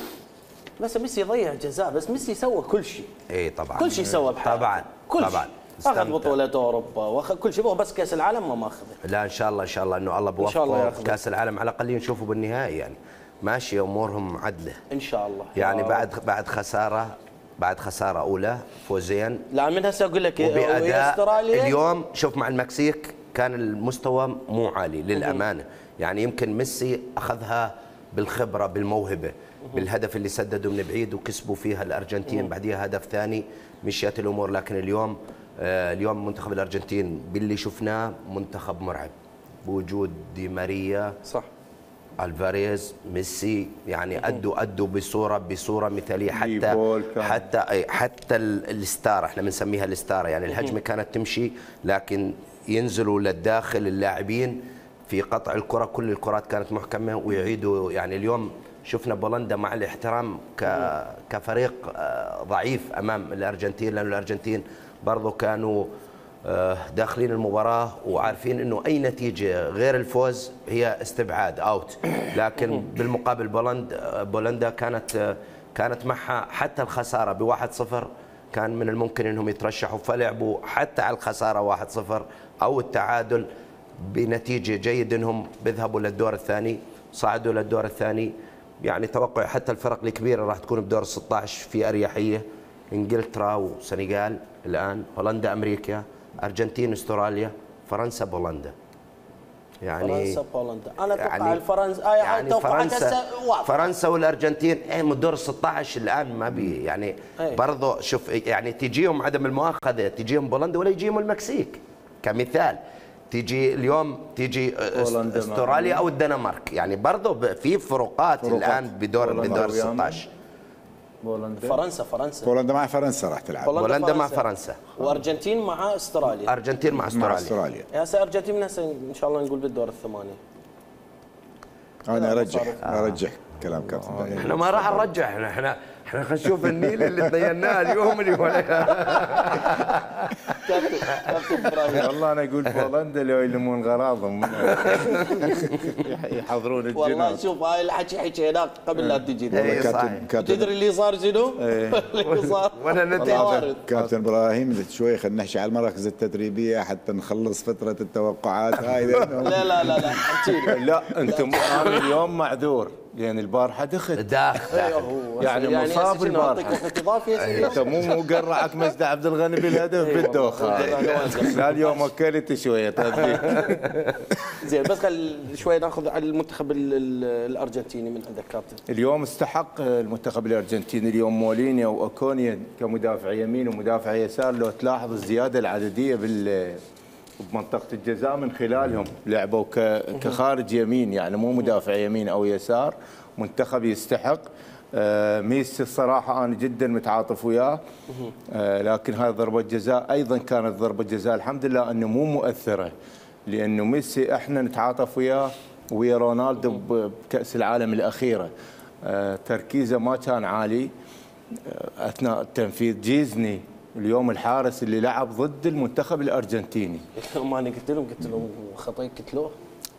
بس ميسي ضيع جزاء، بس ميسي سوى كل شيء. اي طبعا كل شيء سوى بحاله. طبعا اخذ بطوله اوروبا واخذ كل شيء، بس كاس العالم ما ماخذه. لا ان شاء الله انه الله بوفقه كاس العالم على الاقل نشوفه بالنهائي، يعني ماشي امورهم عدله ان شاء الله. يعني بعد خساره اولى فوزين. لا من هسه اقول لك وباداء استراليا اليوم شوف مع المكسيك كان المستوى مو عالي للامانه، يعني يمكن ميسي اخذها بالخبره بالموهبه بالهدف اللي سددوا من بعيد وكسبوا فيها الارجنتين، بعديها هدف ثاني مشيت الامور. لكن اليوم منتخب الارجنتين باللي شفناه منتخب مرعب بوجود دي ماريا، صح، الفاريز، ميسي، يعني ادوا بصوره مثاليه. حتى الستار، احنا بنسميها الستار، يعني الهجمه كانت تمشي لكن ينزلوا للداخل اللاعبين في قطع الكره، كل الكرات كانت محكمه ويعيدوا. يعني اليوم شفنا بولندا مع الاحترام كفريق ضعيف امام الارجنتين، لأن الارجنتين برضو كانوا داخلين المباراه وعارفين انه اي نتيجه غير الفوز هي استبعاد اوت. لكن بالمقابل بولندا كانت معها حتى الخساره ب1-0 كان من الممكن انهم يترشحوا، فلعبوا حتى على الخساره 1-0 او التعادل بنتيجه جيد انهم بيذهبوا للدور الثاني، صعدوا للدور الثاني. يعني توقع حتى الفرق الكبيره راح تكون بدور 16 في اريحيه، انجلترا وسنغال الان، هولندا امريكا، ارجنتين استراليا، فرنسا بولندا. يعني فرنسا بولندا انا اتوقع يعني فرنسا والارجنتين من دور 16 الان ما بي يعني برضه شوف يعني تجيهم عدم المؤاخذه، تجيهم بولندا ولا يجيهم المكسيك كمثال، تيجي استراليا او الدنمارك، يعني برضه في فروقات الان بدور 16. فرنسا بولندا مع فرنسا راح تلعب. بولندا مع فرنسا، وارجنتين مع استراليا. ارجنتين مع استراليا. هسه ارجنتين من هسه ان شاء الله نقول بالدور الثمانيه. انا ارجح كلام كابتن. احنا ما راح نرجح، احنا خلينا نشوف النيل اللي تبيناه اليوم اللي كابتن ابراهيم. والله انا اقول بولندا لو يلمون غراضهم يحضرون الجنود. والله شوف هاي الحكي حكيناه قبل لا تجي. كابتن تدري اللي صار شنو؟ اللي صار وانا النتيجه. كابتن ابراهيم شوي خلينا نحكي على المراكز التدريبيه حتى نخلص فتره التوقعات هاي. لا لا انتم انا اليوم معذور لان البارحه دخل يعني مصاب البارحه. انت مو قرعك مجد عبد الغني بالهدف بالدوخه. لا اليوم اكلت شويه. زين بس شوي ناخذ على المنتخب الارجنتيني من عندك كابتن. اليوم استحق المنتخب الارجنتيني اليوم مولينيا واكونيا كمدافع يمين ومدافع يسار. لو تلاحظ الزياده العدديه بمنطقة الجزاء من خلالهم لعبوا كخارج يمين، يعني مو مدافع يمين أو يسار. منتخب يستحق. ميسي الصراحة أنا جدا متعاطف وياه، لكن هاي ضربة جزاء أيضا كانت ضربة جزاء الحمد لله أنه مو مؤثرة، لأنه ميسي إحنا نتعاطف وياه ويا رونالدو بكأس العالم الأخيرة. تركيزه ما كان عالي أثناء التنفيذ. جيزني اليوم الحارس اللي لعب ضد المنتخب الارجنتيني. ما انا قلت لهم خطأ قتلوه.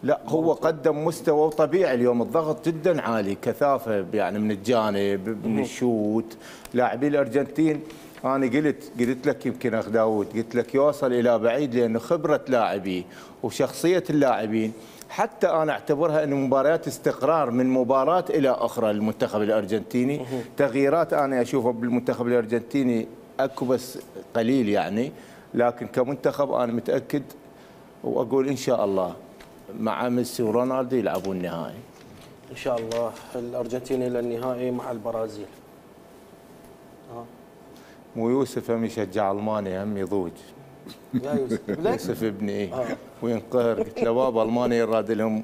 لا هو قدم مستوى طبيعي اليوم. الضغط جدا عالي، كثافه يعني من الجانب من الشوت. لاعبي الارجنتين انا قلت لك يمكن اخ داوود، قلت لك يوصل الى بعيد لانه خبره لاعبيه وشخصيه اللاعبين. حتى انا اعتبرها انه مباريات استقرار من مباراه الى اخرى للمنتخب الارجنتيني. تغييرات انا اشوفها بالمنتخب الارجنتيني اكو بس قليل يعني، لكن كمنتخب انا متاكد واقول ان شاء الله مع ميسي ورونالدو يلعبون النهائي. ان شاء الله الارجنتين الى النهائي مع البرازيل. مو يوسف هم يشجع المانيا هم يضوج. يا يوسف يوسف ابني وينقهر. قلت له بابا المانيا يراد لهم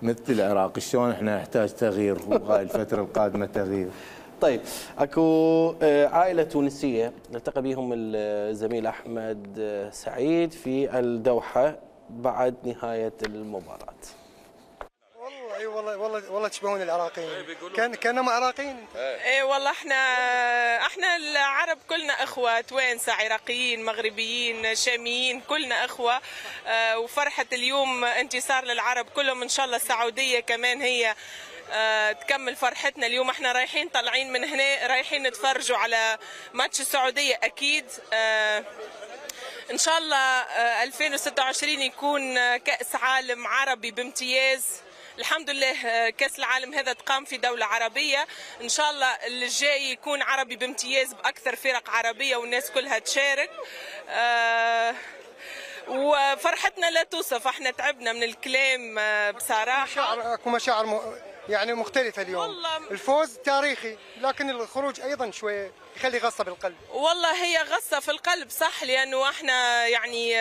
مثل العراق، شلون احنا نحتاج تغيير وهاي الفتره القادمه تغيير. طيب اكو عائله تونسيه نلتقى بهم الزميل احمد سعيد في الدوحه بعد نهايه المباراه. والله تشبهون العراقيين. كانهم عراقيين. اي والله احنا العرب كلنا اخوه، توانسه، عراقيين، مغربيين، شاميين، كلنا اخوه. وفرحه اليوم انتصار للعرب كلهم. ان شاء الله السعوديه كمان هي تكمل فرحتنا اليوم. احنا رايحين طالعين من هنا رايحين نتفرجوا على ماتش السعوديه اكيد. ان شاء الله 2026 يكون كأس عالم عربي بامتياز. الحمد لله كأس العالم هذا تقام في دولة عربية. ان شاء الله الجاي يكون عربي بامتياز بأكثر فرق عربية والناس كلها تشارك. وفرحتنا لا توصف. احنا تعبنا من الكلام بصراحة. اكو مشاعر يعني مختلفة اليوم. والله الفوز تاريخي لكن الخروج ايضا شوية يخلي غصة بالقلب. والله هي غصة في القلب صح، لانه احنا يعني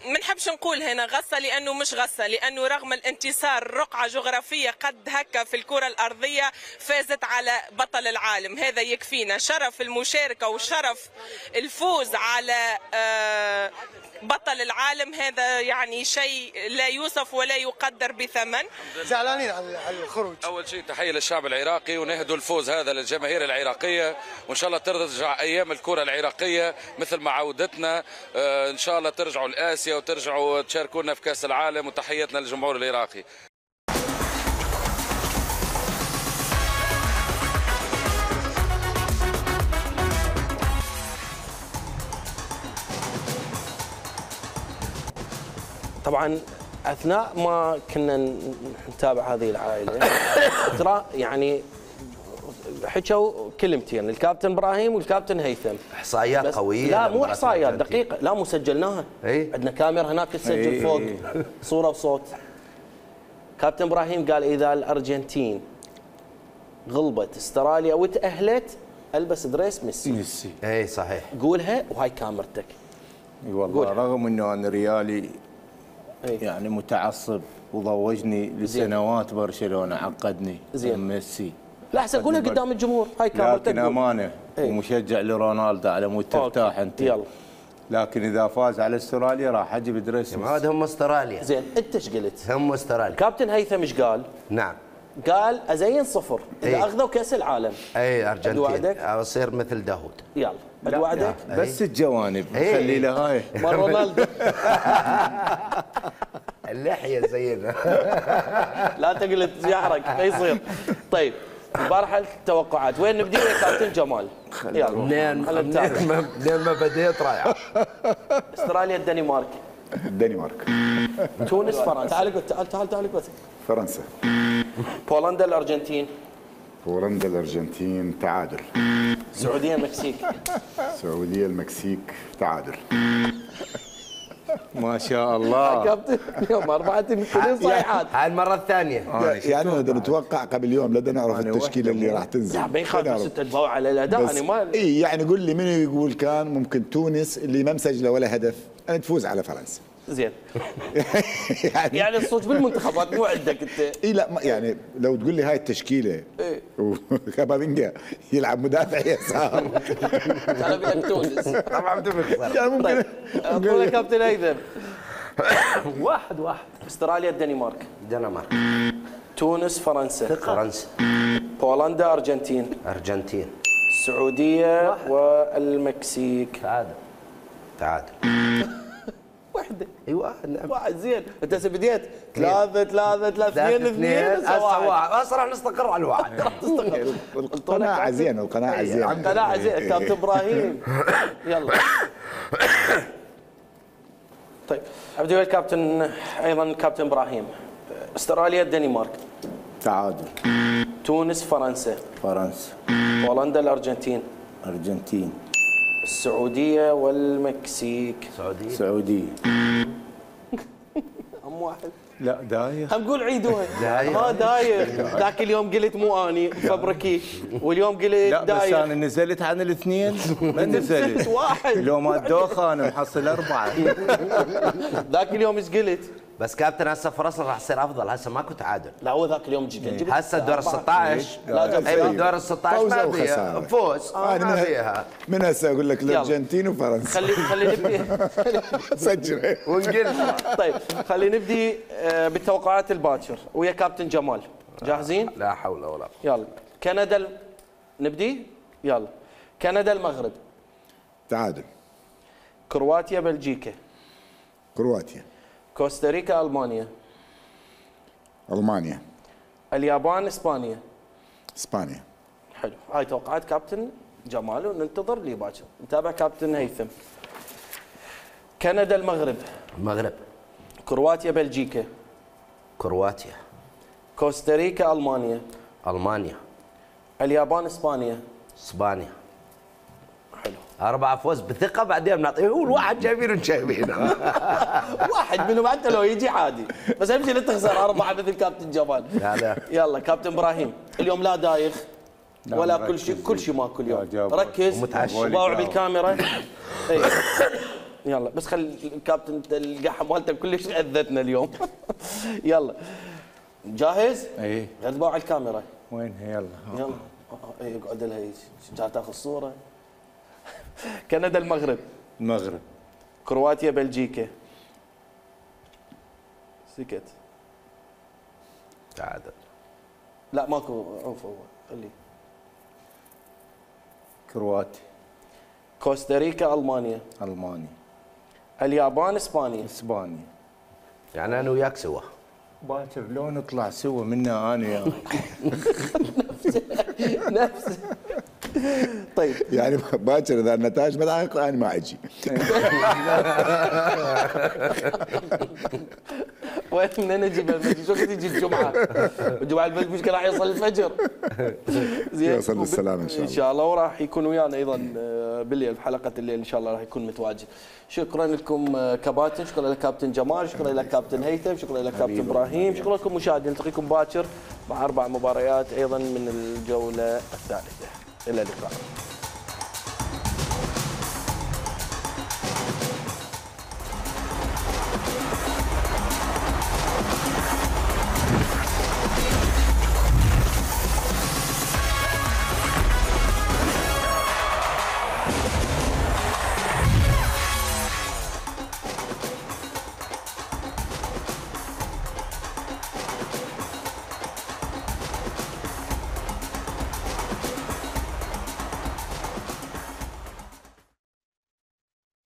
ما نحبش نقول هنا غصة لانه مش غصة، لانه رغم الانتصار رقعة جغرافية قد هكا في الكرة الارضية فازت على بطل العالم. هذا يكفينا شرف المشاركة وشرف الفوز على بطل العالم. هذا يعني شيء لا يوصف ولا يقدر بثمن. زعلانين على الخروج. اول شيء تحيه للشعب العراقي ونهدوا الفوز هذا للجماهير العراقيه، وان شاء الله ترجع ايام الكره العراقيه مثل ما عودتنا. ان شاء الله ترجعوا لاسيا وترجعوا تشاركونا في كاس العالم، وتحياتنا للجمهور العراقي. طبعا اثناء ما كنا نتابع هذه العائله ترى يعني حكوا كلمتين الكابتن ابراهيم والكابتن هيثم، احصائيات قويه. لا مو احصائيات دقيقه، لا مو سجلناها. عندنا كاميرا هناك تسجل فوق صوره وصوت. كابتن ابراهيم قال اذا الارجنتين غلبت استراليا وتاهلت البس دريس ميسي. اي صحيح. قولها وهاي كاميرتك. اي والله رغم انه انا ريالي يعني متعصب وضوجني لسنوات برشلونه، عقدني زين ميسي لا احسن قولها قدام الجمهور، هاي كاميرتك. لكن امانه ومشجع لرونالدو على مود ترتاح انت. يلا. لكن اذا فاز على استراليا راح اجيب دريسمس. هذا هم استراليا. زين انت ايش قلت؟ هم استراليا. كابتن هيثم ايش قال؟ نعم. قال ازين 0 اذا اخذوا كاس العالم. اي ارجنتين اصير مثل داوود. يلا ادوعدك بس الجوانب خلي له هاي مال رونالدو. اللحيه زينا. لا تقلد يحرق ما يصير. طيب مباراة التوقعات وين نبدي يا كابتن جمال؟ يلا منين ما بديت رايح. استراليا الدنمارك. الدنمارك. تونس فرنسا. تعال بس. فرنسا. بولندا الارجنتين. بولندا الارجنتين تعادل. السعوديه المكسيك. السعوديه المكسيك تعادل. ما شاء الله كابتن اليوم 4 صيحات. هاي المره الثانيه. يعني بدنا نتوقع قبل يوم بدنا نعرف التشكيله اللي راح تنزل. لا ما يخالف بس تتبعوا على الاداء. انا ما اي يعني قول لي منو يقول كان ممكن تونس اللي ما مسجله ولا هدف ان تفوز على فرنسا. زين. يعني الصوت بالمنتخبات مو عندك انت. اي لا يعني لو تقول لي هاي التشكيله وكابابينجا يلعب مدافع يسار. انا بدك تونس. طبعا بتخسر. يعني ممكن اقول لك كابتن هيثم. 1-1. استراليا الدنمارك. الدنمارك. تونس فرنسا. فرنسا. بولندا ارجنتين. ارجنتين. السعوديه والمكسيك. تعادل. واحدة. اي واحد زين انت هسه بديت 3 2 هسه راح نستقر على الواحد. القناعة زين القناعة زين كابتن ابراهيم. يلا. طيب ابدي ويا الكابتن ايضا كابتن ابراهيم. استراليا الدنمارك. تعادل. تونس فرنسا. فرنسا. بولندا الارجنتين. ارجنتين. السعودية والمكسيك. سعودية. هم واحد. لا داير. هم قول عيدوها. داير. ذاك اليوم قلت مو اني فبركي واليوم قلت لا داير. بس انا نزلت عن الاثنين ما نزلت. واحد. لو ما الدوخة انا محصل 4. ذاك اليوم ايش قلت؟ بس كابتن هسه فرصنا راح تصير افضل. هسه ماكو تعادل. لا هو ذاك اليوم جبت هسه الدور ال 16. لا اي دور ال 16 ما فيها فوز. ما فيها. من هسه اقول لك الارجنتين وفرنسا. خلي نبدي. سجل ونقل. طيب خلي نبدي بالتوقعات الباكر ويا كابتن جمال. جاهزين؟ لا حول ولا قوة. يلا كندا نبدي؟ يلا كندا المغرب. تعادل. كرواتيا بلجيكا. كرواتيا. كوستاريكا المانيا. المانيا. اليابان اسبانيا. اسبانيا. حلو هاي توقعات كابتن جمال وننتظر لي باكر. نتابع كابتن هيثم. كندا المغرب. المغرب. كرواتيا بلجيكا. كرواتيا. كوستاريكا المانيا. المانيا. اليابان اسبانيا. اسبانيا. حلو 4 فوز بثقه بعدين بنعطيه هو الواحد جايبينه وشايبينه. واحد منهم حتى لو يجي عادي بس اهم شيء لا تخسر 4 مثل كابتن جمال. لا يلا كابتن ابراهيم اليوم لا دايخ ولا كل شيء ماكو اليوم. ركز وباوع بالكاميرا. يلا بس خلي الكابتن القحه مالته كلش اذتنا اليوم. يلا جاهز؟ اي غدبوا على الكاميرا. وين يلا اقعد لها جاي تاخذ صوره. كندا المغرب. المغرب. كرواتيا بلجيكا. سكت. تعادل. لا ماكو عوف هو خليه. كرواتيا. كوستاريكا المانيا. المانيا. اليابان اسبانيا. اسبانيا. يعني انا وياك سوا. باكر لو نطلع سوا منا انا وياك. نفسه. طيب يعني باكر اذا النتائج ما تحقق انا ما اجي. وين بدنا نجيب المسجد؟ شو تجي الجمعه؟ الجمعه المشكله راح يوصل الفجر. زين يوصل بالسلامه ان شاء الله. ان شاء الله وراح يكون ويانا ايضا بالليل في حلقه الليل ان شاء الله راح يكون متواجد. شكرا لكم كباتن، شكرا لك كابتن جمال، شكرا لك كابتن هيثم، شكرا لك كابتن ابراهيم، شكرا لكم مشاهدين. نلتقيكم باكر مع 4 مباريات ايضا من الجوله الثالثه. الى اللقاء.